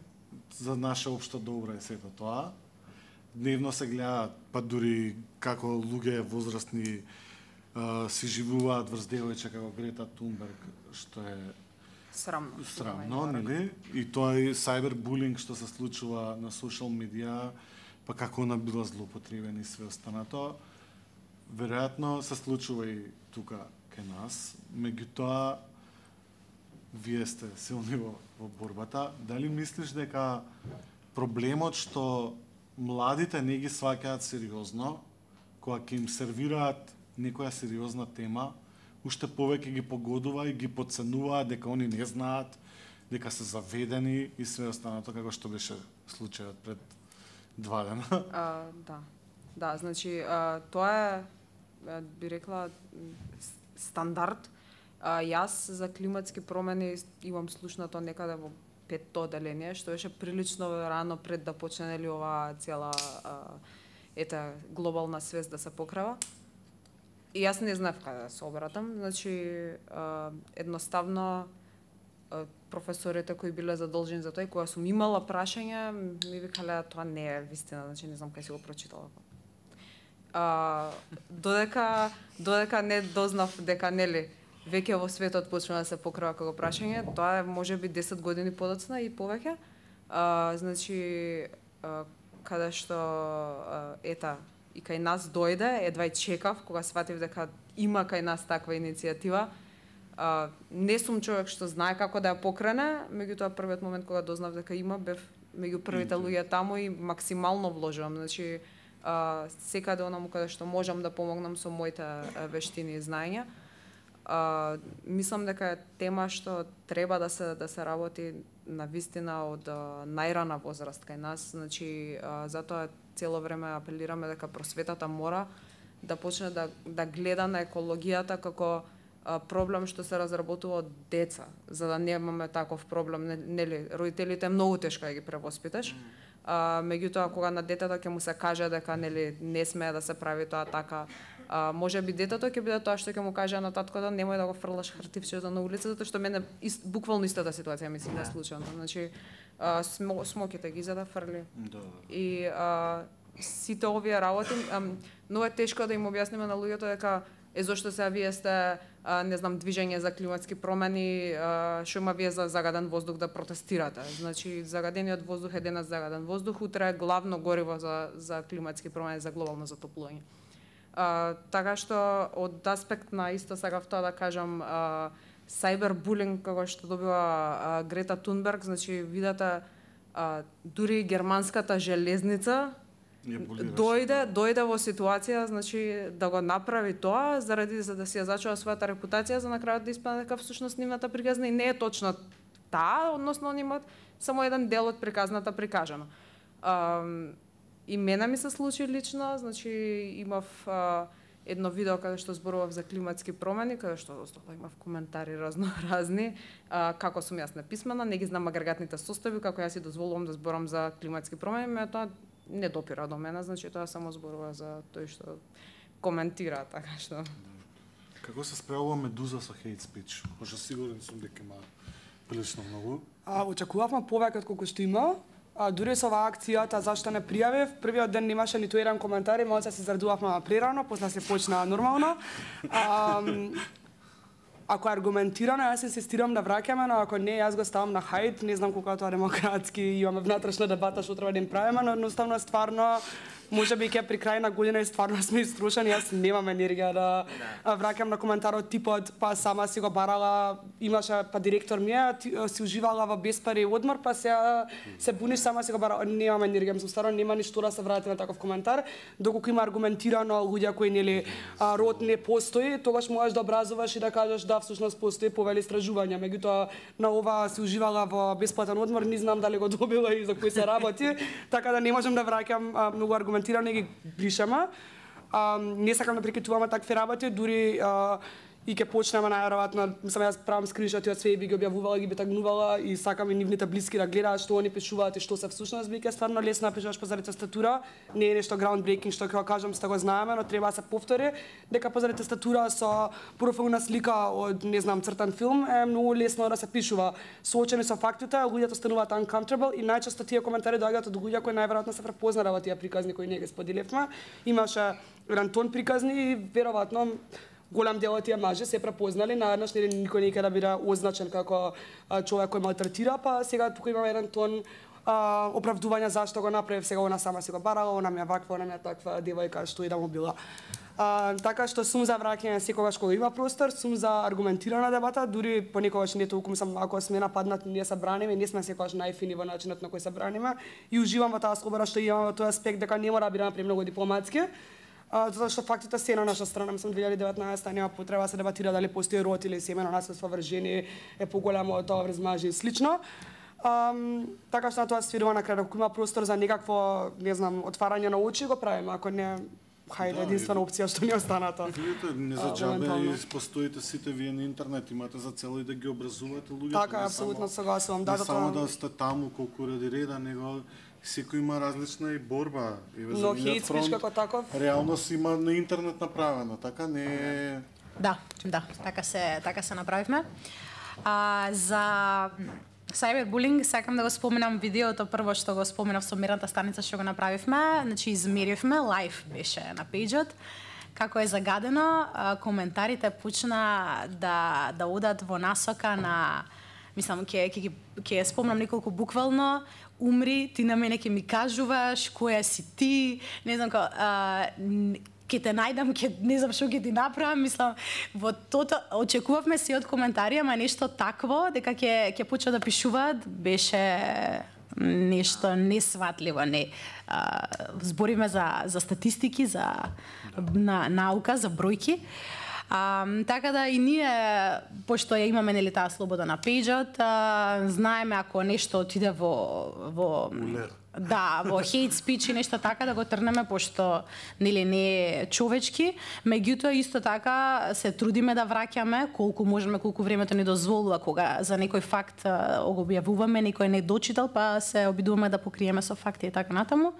За наше општо добро е сето тоа. Дневно се гледаат, па дури како луѓе возрастни си живуваат врз девојче како Грета Тунберг, што е срамно, нели? И тоа е сайбербулинг што се случува на социјал медија, па како она била злоупотребена и све останато. Веројатно се случува и тука кај нас, меѓутоа вие сте силни во борбата. Дали мислиш дека проблемот што младите не ги сваќаат сериозно, кога ќе им сервираат некоја сериозна тема, уште повеќе ги погодува и ги подценуваат дека они не знаат, дека се заведени и све останато, како што беше случајот пред 2 дена? Да, значи тоа е, би рекла, стандард. Јас за климатски промени имам слушнато некаде во 5-то одделение, што беше прилично рано пред да почне нели оваа цела глобална свест да се покрива. И јас не знаев каде да се обратам, значи едноставно професорите кои биле задолжени за тоа и кога сум имала прашања, ми викале тоа не е вистина, значи не знам кај си го прочитала. Додека не дознав дека нели веќе во светот почна да се покрива како прашање, тоа е можеби 10 години подоцна и повеќе. Значи каде што и кај нас дојде, едва и чекав кога сватив дека има кај нас таква иницијатива. Не сум човек што знае како да ја покрене, меѓутоа првиот момент кога дознав дека има, бев меѓу првите луѓе таму и максимално вложувам. Значи секаде онаму каде што можам да помогнам со моите вештини и знаења. Мислам дека е тема што треба да се работи на вистина од најрана возраст кај нас, значи затоа цело време апелираме дека просветата мора да почне да гледа на екологијата како проблем што се разработува од деца, за да немаме таков проблем, нели, родителите е многу тешко да ги превоспиташ. Меѓутоа кога на детето ќе му се каже дека нели не смее да се прави тоа така, можеби детето ќе биде тоа што ќе му каже на таткото немој да го фрлаш хартивчето на улица, затоа што мене буквално истата ситуација ми се случила. Значи смоките ги за да фрли. И сите овие работи, но е тешко да им објасниме на луѓето дека зошто сега вие сте не знам движење за климатски промени, што има вие за загаден воздух да протестирате. Значи загадениот воздух е денес загаден воздух, утре е главно гориво за климатски промени, за глобално затоплување. Така што од аспект на исто сакав тоа да кажам, сайбербулинг како што добива Грета Тунберг, значи видата дури германската железница дојде во ситуација, значи да го направи тоа за да си ја зачува својата репутација, за на крајот да испадне дека всушност нивната приказна и не е точно таа, односно они имаат само еден дел од приказната прикажано. И мене ми се случи лично, значи имав едно видео каде што зборував за климатски промени, каде што имав коментари разноразни, како сум јас неписмена, не ги знам агрегатните состојби, како јас си дозволувам да зборам за климатски промени, тоа не допира до мене, значи тоа само зборува за тој што коментира, така што. Како се справува Медуза со хейт спич? Пошто сигурен сум дека има прилично многу. Очекувавме повеќе од колку што има. Дури со оваа акцијата зашто не пријавив, првиот ден немаше ниту еден коментар, малку се зарадувавме прерано, после се почна нормално. Ако е аргументирано, јас инсистирам да враќаме, но ако не, јас го ставам на хајт, не знам колку тоа демократски, имаме внатрешна дебата што треба да им правиме, но едноставно стварно можеби ќе при крај на година и стварно сме иструшени, јас немам енергија да враќам на коментарот типот, па сама си го барала, имаше па директор ми си уживала во беспари одмор, па се буниш сама си го барала, немам енергија, мислам стварно нема ништо да се врати на таков коментар, доколку има аргументирано луѓе кои нели род не постои, тогаш можеш да образуваш и да кажеш да всушност постои повели истражувања, меѓутоа на ова си уживала во бесплатен одмор, не знам дали го добила и за кој се работи, така да не можам да враќам многу аргументирано ги бришаме. Не сакам да прикритуваме такви работи, дури и ќе почнеме најверојатно, мислам јас правам скриншоти од све и би ги објавувала, ги би тагнувала и сакам и нивните блиски да гледаат што они пишуваат и што се всушност, биќе стварно лесно напишуваш позади тастатура, не е нешто groundbreaking што ќе кажам, сте го знаеме, но треба да се повтори, дека позади тастатура со профилна слика од не знам цртан филм е многу лесно да се пишува. Соочени со фактите, луѓето стануваат uncomfortable и најчесто тие коментари доаѓаат од луѓе кои најверојатно се препознале во тие приказни кои ние ги споделивме. Имаше еден тон приказни и веројатно голем дел од тие мажи се препознали, наеднаш никој не ќе да биде означен како човек кој малтретира, па сега тука имаме еден тон оправдување зашто го направив, сега она сама си го барала, она ми е ваква, она ми е таква девојка, што и да му била. Така што сум за враќање секогаш кога има простор, сум за аргументирана дебата, дури понекогаш не толку мислам ако сме нападнат, ние се браниме, не сме секогаш најфини во начинот на кој се браниме и уживам во таа слобода што имаме во тој аспект дека не мора да бидеме премногу дипломатски. Затоа што фактите се на наша страна, мислам 2019 нема потреба да се дебатира дали постои род или семено насилство врз жени е поголемо од тоа врз мажи и слично. Така што на тоа свирува на крај, ако има простор за некакво, не знам, отварање на очи, го правиме, ако не, хајде, единствена опција што ни останата. Видите, не за џабе и постоите сите вие на интернет, имате за цел и да ги образувате луѓето. Така, апсолутно согласувам. Да, само да сте таму колку ради реда, него секој има различна и борба. Но хейт спич како таков? Реално си има на интернет направено, така не е... Да, така се направивме. За cyberbullying сакам да го споменам видеото прво што го споменав со мерната станица што го направивме, значи измеривме, лайв беше на пејџот. Како е загадено, коментарите почна да одат во насока на, мислам, ќе спомнам неколку буквално, умри, ти на мене ќе ми кажуваш, која си ти, не знам ќе те најдам, не знам што ќе ти направам, мислам, во тото очекувавме се од коментари, ама нешто такво, дека ќе почнат да пишуваат, беше нешто несватливо, не. Збориме за статистики, за наука, за бројки. Така да и ние, пошто ја имаме нели таа слобода на пејџот, знаеме ако нешто отиде во во хейт спич и нешто така да го трнеме, пошто нели не е човечки. Меѓутоа исто така се трудиме да враќаме колку можеме, колку времето ни дозволува, кога за некој факт го објавуваме, некој не дочитал, па се обидуваме да покриеме со факти и така натаму.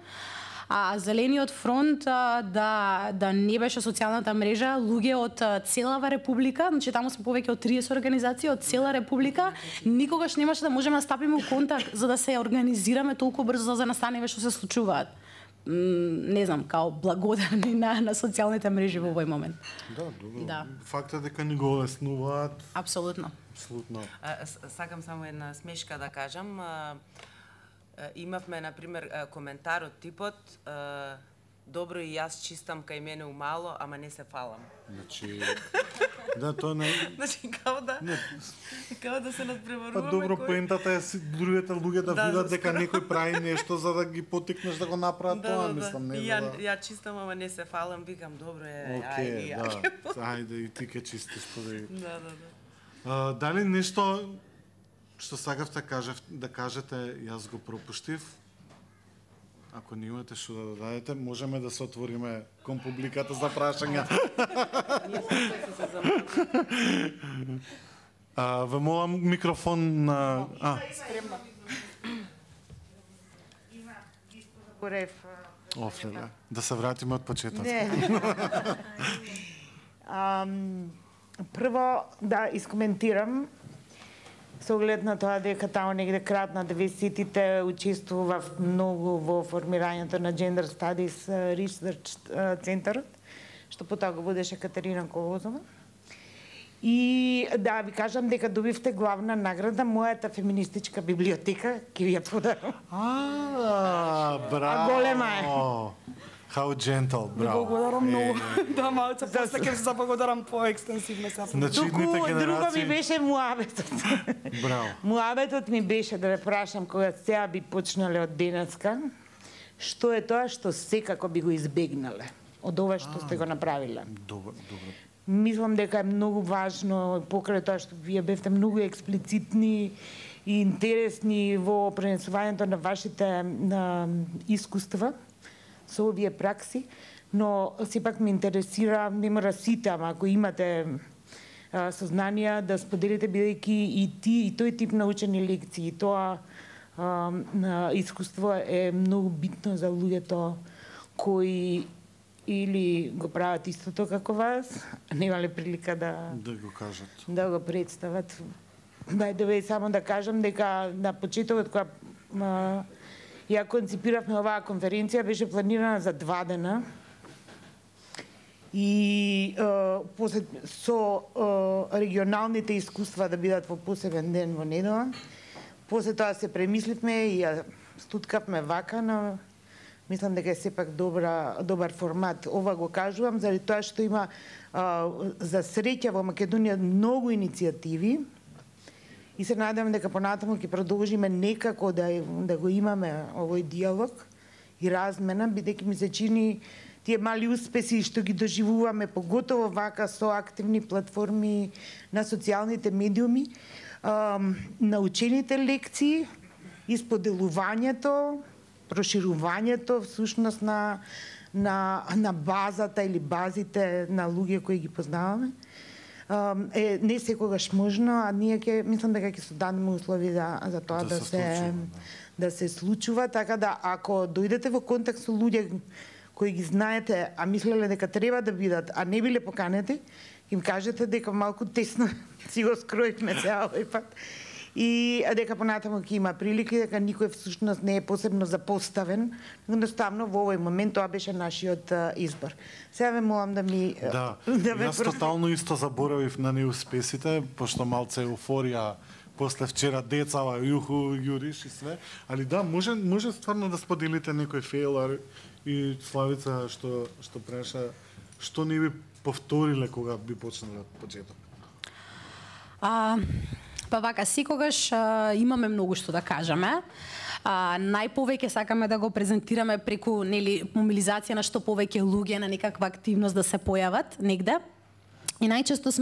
Зелениот фронт да не беше социјалната мрежа, луѓе од целава република, значи таму сме повеќе од 30 организации од цела република, никогаш немаше да можеме да стапиме во контакт за да се организираме толку брзо за настаниве што се случуваат. Не знам, као благодарни на социјалните мрежи во овој момент. Да, добро. Да. Фактот дека ни го олеснуваат. Апсолутно. Апсолутно. Сакам само една смешка да кажам. Имавме, например, коментар од типот добро и јас чистам кај мене умало, ама не се фалам. Значи, да, тоа не... Значи, као да се надпреваруваме. Па добро, поентата е другите луѓе да видат дека некој прави нешто за да ги потикнеш да го направат тоа, мислам, не да. Ја чистам, ама не се фалам, викам, добро е, ајде, да, ајде, и ти ке чистиш, подај. Да. Дали нешто што сакавте да кажете, јас го пропуштив? Ако не имате што да дадете, можеме да се отвориме кон публиката за прашања. Ве молам микрофон на... Спремна. Има Горев. Офле, да се вратиме од почеток. Прво да искоментирам со оглед на тоа дека таму негде крај на 90-тите учествував многу во формирањето на Gender Studies Research центарот, што потоа го водеше Катерина Колозова. И да ви кажам дека добивте главна награда, мојата феминистичка библиотека, ќе ви ја подарам. Браво! Голема е. How gentle, браво. Благодарам многу. Да, малце после ќе се заблагодарам поекстенсивно сега. Значи, идните генерации... Друго ми беше муабетот. Браво. Муабетот ми беше да ве прашам кога сега би почнале од денеска, што е тоа што секако би го избегнале од ова што сте го направиле. Добро. Мислам дека е многу важно, покрај тоа што вие бевте многу експлицитни и интересни во пренесувањето на вашите искуства со овие пракси, но сепак ме интересира, не мора сите, ама ако имате сознанија да споделите, бидејќи и тој тип научени лекции, тоа искуство е многу битно за луѓето кои или го прават истото како вас, немале прилика да го кажат, да го представат. Само да кажам дека на почетокот кога ја конципиравме оваа конференција, беше планирана за 2 дена и со регионалните искуства да бидат во посебен ден во недела. После тоа се премисливме и ја стуткавме вака, но мислам дека е сепак добар формат. Ова го кажувам заради тоа што има за среќа во Македонија многу иницијативи и се надевам дека понатаму ќе продолжиме некако да го имаме овој диалог и размена, бидејќи ми се чини тие мали успеси што ги доживуваме, поготово вака со активни платформи на социјалните медиуми, научените лекции, исподелувањето, проширувањето всушност на базата или базите на луѓе кои ги познаваме, е не секогаш можно, а ние мислам дека ќе создадеме услови за тоа да се случува, така да ако дојдете во контакт со луѓе кои ги знаете, а мислеле дека треба да бидат, а не биле поканети, им кажете дека малку тесно си го скроивме цел овој пат и дека понатаму ќе има прилики, дека никој всушност не е посебно запоставен, едноставно во овој момент тоа беше нашиот избор. Сега ве молам да ми јас тотално исто заборавив на неуспесите, пошто малце еуфорија после вчера децава, јуху, јуриш и све, али да, може стварно да споделите некој фейл и Славица што преша, што не би повториле кога би почнале од почеток? Па вака, секогаш имаме многу што да кажеме. Најповеќе сакаме да го презентираме преку мобилизација на што повеќе луѓе на некаква активност да се појават негде. И најчесто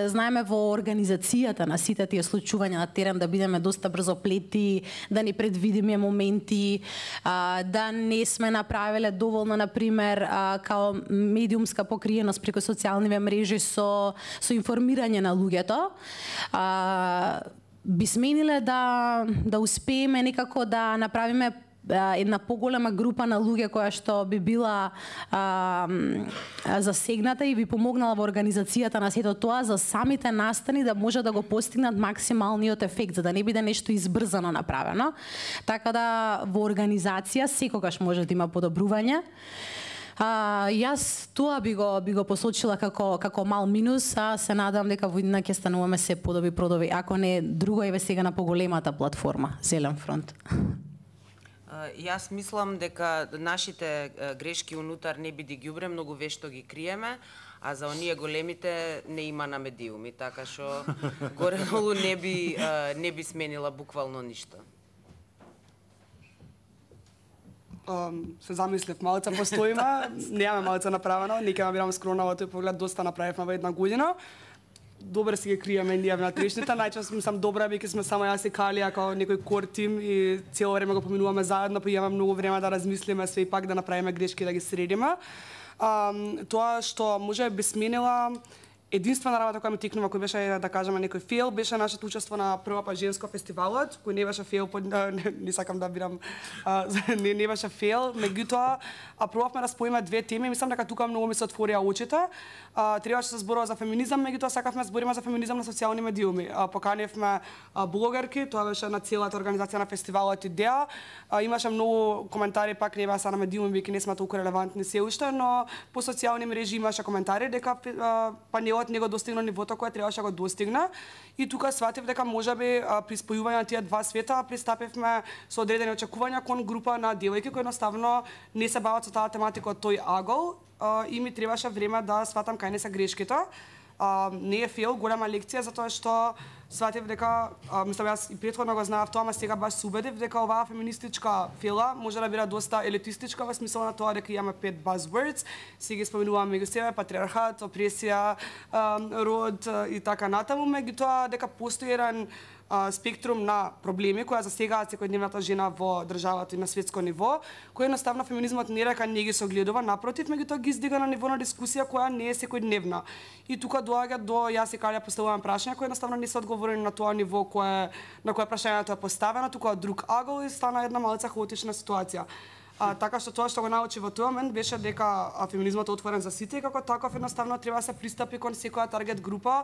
знаеме во организацијата на сите тие случувања на терен да бидеме доста брзоплети, да ни предвидиме моменти, да не сме направиле доволно, например, као медиумска покриеност преку социјалните мрежи со информирање на луѓето. Би смениле да успееме некако да направиме една поголема група на луѓе која што би била засегната и би помогнала во организацијата на сето тоа за самите настани да може да го постигнат максималниот ефект, за да не биде нешто избрзано направено. Така да во организација секогаш може да има подобрување. Јас тоа би го посочила како мал минус, а се надам дека во иднина ќе стануваме се подобри, ако не друго еве сега на поголемата платформа Зелен фронт. Јас мислам дека нашите грешки унутар не биде ги убре, многу вешто ги криеме, а за оние големите не има на медиуми, така што горе-долу не би сменила буквално ништо. Се замислив, малце постоиме, немаме малце направено, не ќе бидам скромна во тој поглед, доста направивме во една година. Добре си ги криеме ние на трешните, најчесто мислам добра бидејќи сме само јас и Калија како некој кор тим и цело време го поминуваме заедно, па имаме многу време да размислиме све и пак да направиме грешки да ги средиме. Тоа што може би сменила единствена работа која ми текнува, кој беше, да кажеме, некој фейл, беше нашето учество на прва па женско фестивалот, кој не беше фейл, не сакам да бидам, не беше фейл, меѓутоа, пробавме да споиме две теми, мислам дека тука многу ми се отворија очите. Требаше да се зборува за феминизам, меѓутоа сакавме да збориме за феминизам на социјални медиуми. Поканевме блогерки, тоа беше на целата организација на фестивалот идеја. Имаше многу коментари, пак не беа на медиуми, бидејќи не сме толку релевантни се уште, но по социјални мрежи имаше коментари дека панелот не го достигна нивото кое требаше да го достигне. И тука сватив дека можеби при спојување на тие два света пристапивме со одредени очекувања кон група на девојки кои едноставно не се бават со таа тематика од тој агол и ми требаше време да сватам кај не се грешките. Не е фейл, голема лекција, затоа што сватив дека, мислам јас и претходно го знаев тоа, ама сега баш се убедив дека оваа феминистичка фела може да биде доста елитистичка во смисла на тоа дека имаме 5 buzzwords, си ги споменуваме меѓу себе, патриархат, опресија, род и така натаму, меѓутоа дека постои еден спектрум на проблеми кои засегаат секојдневната жена во државата и на светско ниво, кој едноставно феминизмот не дека не ги согледува, напротив, меѓутоа ги издига на ниво на дискусија која не е секојдневна. И тука доаѓа до јас и Калја поставувам прашања кои едноставно не се одговорени на тоа ниво на кое прашањето е поставено, тука од друг агол и стана една малку хаотична ситуација. Така што тоа што го научи во тој момент беше дека феминизмот е отворен за сите и како таков едноставно треба да се пристапи кон секоја таргет група,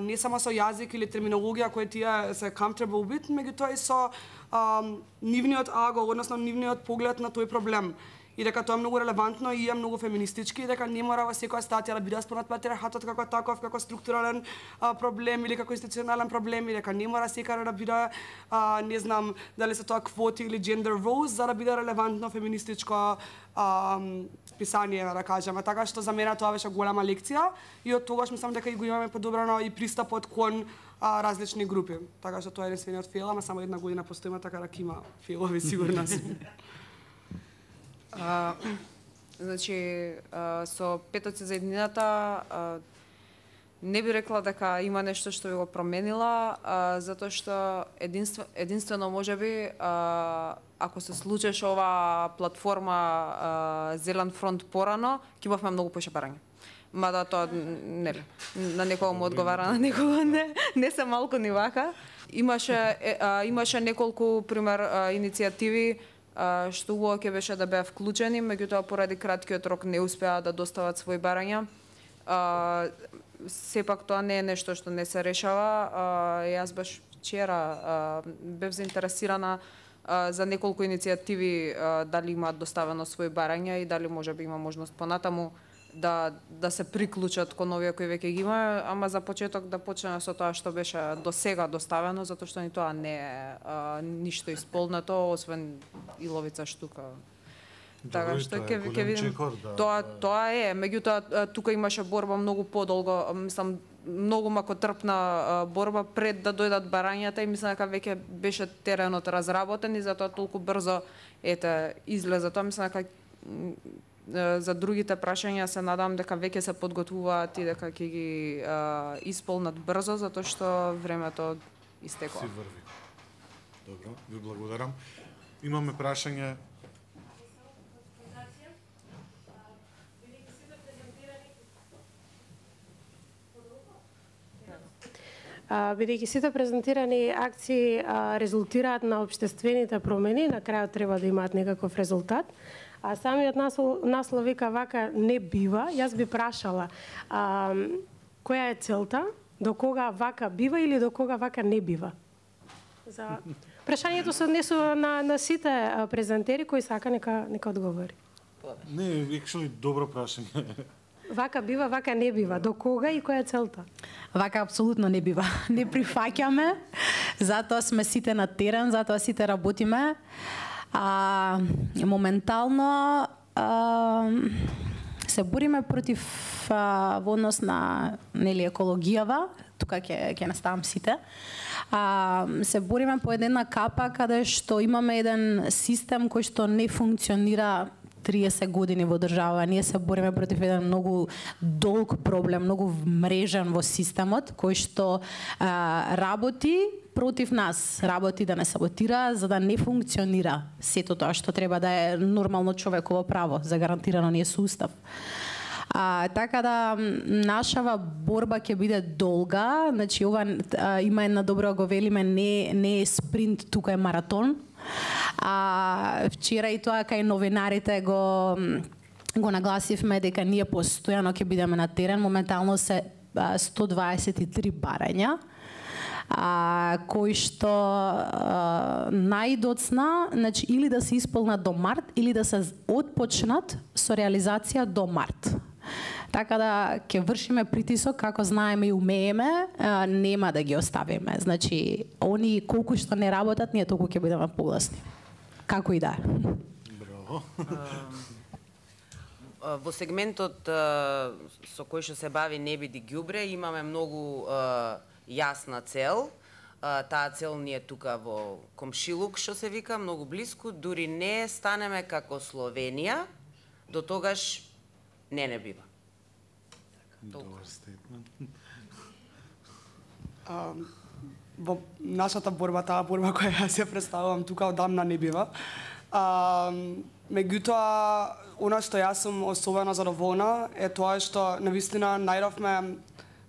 не само со јазик или терминологија кои тие се comfortable with, меѓутоа и со нивниот агол, односно нивниот поглед на тој проблем. И дека тоа е многу релевантно и е многу феминистички, и дека не мора во секоја статија да биде според патриархатот како таков, како структурален проблем или како институционален проблем, и дека не мора секаде да биде, не знам, дали се тоа квоти или gender roles, за да биде релевантно феминистичко писание, да кажеме. Така што за мене тоа беше голема лекција и од тогаш мислам дека и го имаме подобрано и пристапот кон различни групи. Така што тоа е единствениот фейл, ама само една година постоиме, така да има фейлови, сигурна сум. Значи, со петоци за еднината не би рекла дека има нешто што би го променила, затоа што единствено можеби ако се случеше ова платформа Зелен фронт порано, ќе имавме многу поише барања. Мада тоа нели, на некого му одговара, на некого не се малку ни вака. Имаше неколку пример иницијативи што убаво ќе беше да беа вклучени, меѓутоа поради краткиот рок не успеа да достават своји барања. Сепак тоа не е нешто што не се решава. Јас баш вчера бев заинтересирана за неколку иницијативи дали имаат доставено своји барања и дали можеби има можност понатаму да се приклучат кон овие кои веќе ги има, ама за почеток да почнеме со тоа што беше до сега доставено, затоа што ни тоа не е ништо исполнето, освен иловица штука. Така што ќе видим. Тоа е, меѓутоа тука имаше борба многу подолго, мислам многу макотрпна борба пред да дојдат барањата и мислам дека веќе беше теренот разработен и затоа толку брзо излезе тоа. Мислам дека за другите прашања се надам дека веќе се подготвуваат и дека ќе ги исполнат брзо, затоа што времето истекува. Си врви. Добро, ви благодарам. Имаме прашање. Бидејќи сите презентирани акции резултираат на општествените промени, на крајот треба да имаат некаков резултат. А самиот наслов вика вака не бива. Јас би прашала која е целта, до кога вака бива или до кога вака не бива? За прашањето се однесува на сите презентери кои сака нека одговори. Не, actually добро прашање. Вака бива, вака не бива. До кога и која е целта? Вака апсолутно не бива. Не прифаќаме, затоа сме сите на терен, затоа сите работиме. Моментално се бориме против во однос на екологијава, тука ќе наставам сите. Се бориме по една капа каде што имаме еден систем кој што не функционира 30 години во држава. Ние се бориме против еден многу долг проблем, многу мрежен во системот, кој што работи против нас, работи да не саботира, за да не функционира сето тоа што треба да е нормално човеково право, загарантирано ни е со устав. Така да нашава борба ќе биде долга, значи ова има една добро го велиме, не е спринт, тука е маратон. Вчера и тоа кај новинарите го нагласивме дека ние постојано ќе бидеме на терен. Моментално се 123 барања, кои што најдоцна, значи или да се исполнат до март или да се отпочнат со реализација до март. Така да ќе вршиме притисок како знаеме и умееме, нема да ги оставиме. Значи, они колку што не работат, ние толку ќе бидеме погласни. Како и да. Браво. Во сегментот со кој што се бави Не биди ѓубре, имаме многу јасна цел. Таа цел ни е тука во комшилук, што се вика, многу блиску. Дури не станеме како Словенија, до тогаш не бива. Добар стейтмент. во нашата борба, таа борба која јас ја представувам тука одамна не бива. Меѓутоа, она што јас сум особено задоволна е тоа што навистина најдовме.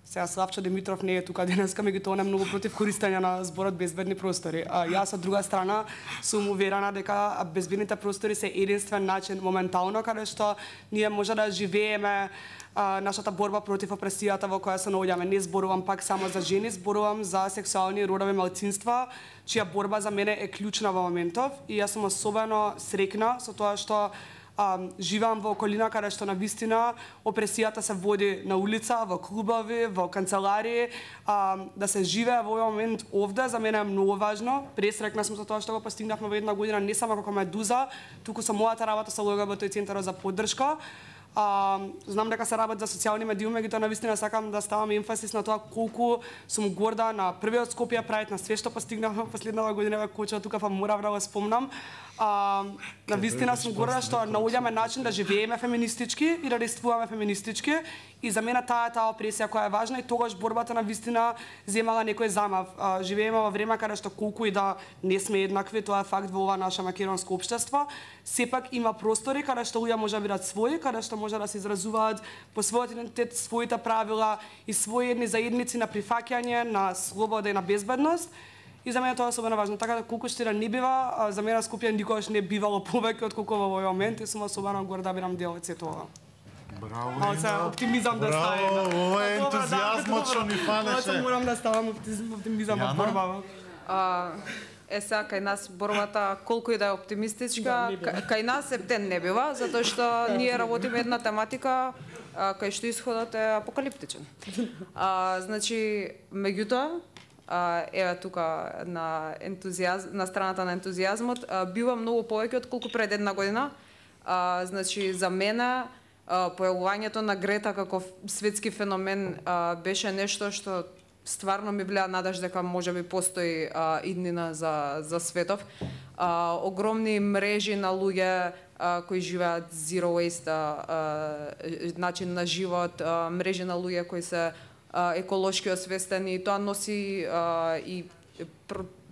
Сега Славчо Димитров не е тука денеска, меѓутоа он е многу против користење на зборот безбедни простори. Јас од друга страна сум уверена дека безбедните простори се единствен начин моментално каде што ние може да живееме нашата борба против опресијата во која се наоѓаме. Не зборувам пак само за жени, зборувам за сексуални и родови малцинства, чија борба за мене е клучна во моментов и јас сум особено среќна со тоа што живеам во околина каде што навистина опресијата се води на улица, во клубови, во канцеларии, да се живее во овој момент овде за мене е многу важно. Пресрекна сум со тоа што го постигнавме во една година не само како Медуза, туку со мојата работа со ЛГБТ центарот за поддршка. Знам дека се работи за социјални медиуми, меѓутоа навистина сакам да ставам емфасис на тоа колку сум горда на првиот Скопје Прајд, на све што постигнавме последната година во Коча, тука морав да го спомнам. Навистина сум горда што наоѓаме начин да живееме феминистички и да действуваме феминистички и за мене таа опресија која е важна и тогаш борбата навистина земала некој замав. Живееме во време каде што колку и да не сме еднакви, тоа е факт во ова наше македонско општество, сепак има простори каде што луѓе може да бидат своји, каде што може да се изразуваат по својот идентитет, своите правила и своји едни заедници на прифаќање, на слобода и на безбедност. И за мене тоа е особено важно. Така да колку што не бива, за мене Скопје никогаш не бивало повеќе од колку во овој момент и сум особено горда да бидам дел од сето ова. Браво, Ина. Оптимизам да ставам. Браво, ова е ентузијазмот што ни фанеше. Морам да ставам оптимизам во борбава. Сега кај нас борбата колку и да е оптимистичка, кај нас ептен не бива, затоа што ние работиме една тематика кај што исходот е апокалиптичен. Значи, меѓутоа, еве тука на страната на ентузијазмот, бива многу повеќе од колку пред една година. Значи, за мене појавувањето на Грета како светски феномен беше нешто што стварно ми влеа надеж дека можеби постои иднина за светов. Огромни мрежи на луѓе кои живеат zero waste начин на живот, мрежи на луѓе кои се еколошки освестени, тоа носи и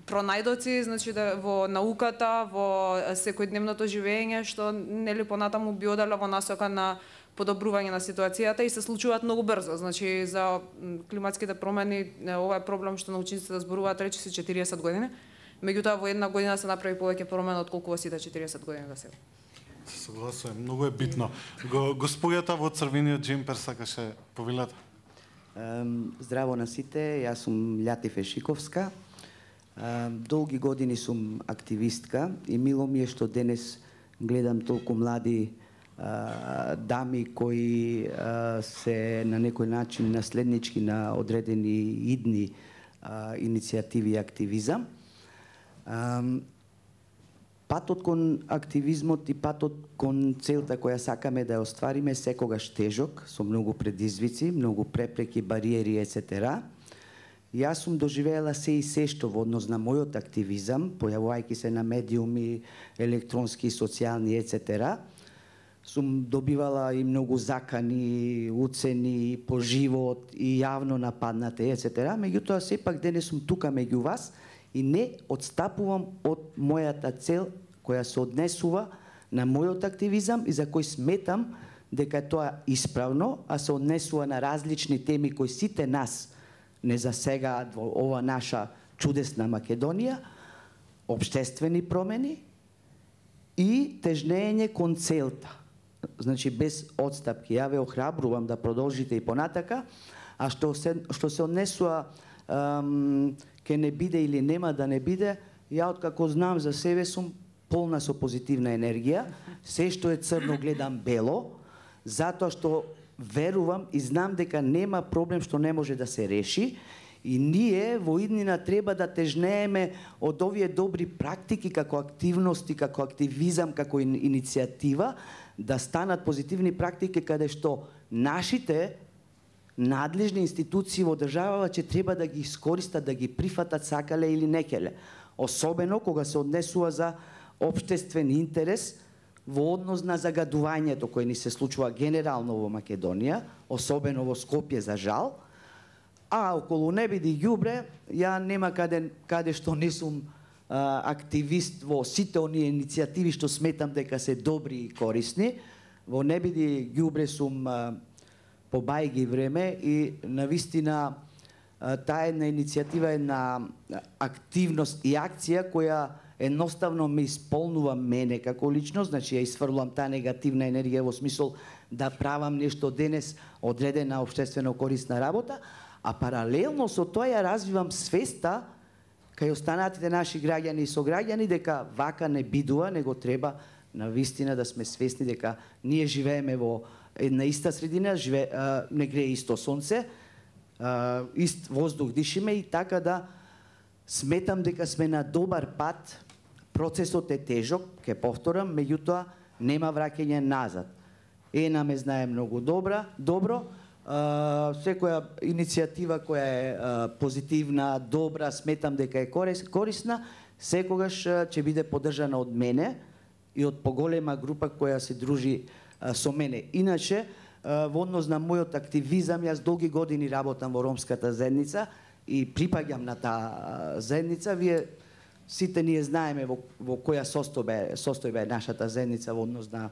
пронајдоци, значи во науката, во секојдневното живење, што нели понатаму би одело во насока на подобрување на ситуацијата и се случуваат многу брзо. Значи за климатските промени ова е проблем што научниците да зборуваат речиси 40 години. Меѓутоа во една година се направи повеќе промена од колку во сите 40 години до сега. Согласувам, многу е битно. Господјата во црвениот џемпер сакаше повелата. Здраво на сите, јас сум Љати Фешиковска. Долги години сум активистка и мило ми е што денес гледам толку млади дами кои се на некој начин наследнички на одредени идни иницијативи и активизам. Патот кон активизмот и патот кон целта која сакаме да ја оствариме секогаш тежок, со многу предизвици, многу препреки, бариери, etc. Јас сум доживеела се и се што во однос на мојот активизам, појавувајќи се на медиуми, електронски, социјални, etc. Сум добивала и многу закани, уцени по живот и јавно нападнати, etc. Меѓутоа, сепак денес сум тука меѓу вас и не одстапувам од мојата цел која се однесува на мојот активизам и за кој сметам дека тоа исправно, а се однесува на различни теми кои сите нас не засегаат во ова наша чудесна Македонија, општествени промени и тежнење кон целта. Значи, без одстапки. Ја ве охрабрувам да продолжите и понатака, а што се однесува ке не биде или нема да не биде, ја откако знам за себе сум полна со позитивна енергија, се што е црно гледам бело, затоа што верувам и знам дека нема проблем што не може да се реши и ние во иднина треба да тежнееме од овие добри практики како активности, како активизам, како иницијатива, да станат позитивни практики каде што нашите надлежни институции во државава ќе треба да ги искористат, да ги прифатат сакале или некеле. Особено кога се однесува за општествен интерес во однос на загадувањето кое ни се случува генерално во Македонија, особено во Скопје за жал, А околу не биди ѓубре, ја нема каде што не сум активист во сите оние иницијативи што сметам дека се добри и корисни. Во не биди ѓубре сум по бајги време и навистина таа една иницијатива е на активност и акција која едноставно ме исполнува мене како личност, значи ја исфрлувам таа негативна енергија во смисол да правам нешто денес одредена општествено корисна работа, а паралелно со тоа ја развивам свеста кај останатите наши граѓани и сограѓани дека вака не бидува, него треба навистина да сме свесни дека ние живееме во една иста средина, не грее исто сонце, ист воздух дишиме и така да сметам дека сме на добар пат. Процесот е тежок, ќе повторам, меѓутоа нема враќање назад. Ена ме знае многу добро, секоја иницијатива која е позитивна, добра, сметам дека е корисна, секогаш ќе биде поддржана од мене и од поголема група која се дружи со мене. Иначе, во однос на мојот активизам, јас долги години работам во ромската заедница и припаѓам на таа заедница. Вие сите ние знаеме во која состојба е нашата заедница во однос на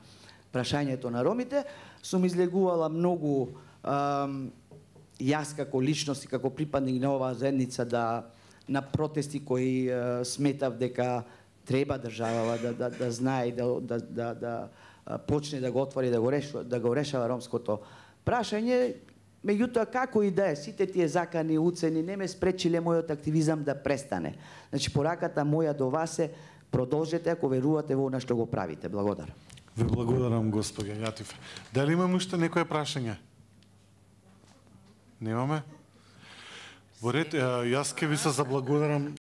прашањето на ромите. Сум излегувала многу јас како личност и како припадник на оваа заедница на протести кои сметав дека треба државава да знае и да почне да го отвори, да го решава ромското прашање. Меѓутоа, како и да е, сите тие закани, уцени, не ме спречиле мојот активизам да престане. Значи, пораката моја до вас е, продолжете ако верувате во она што го правите. Благодарам. Ви благодарам, господи Јатиф. Дали имаме уште некое прашање? Немаме? Во ред, јас ке ви се заблагодарам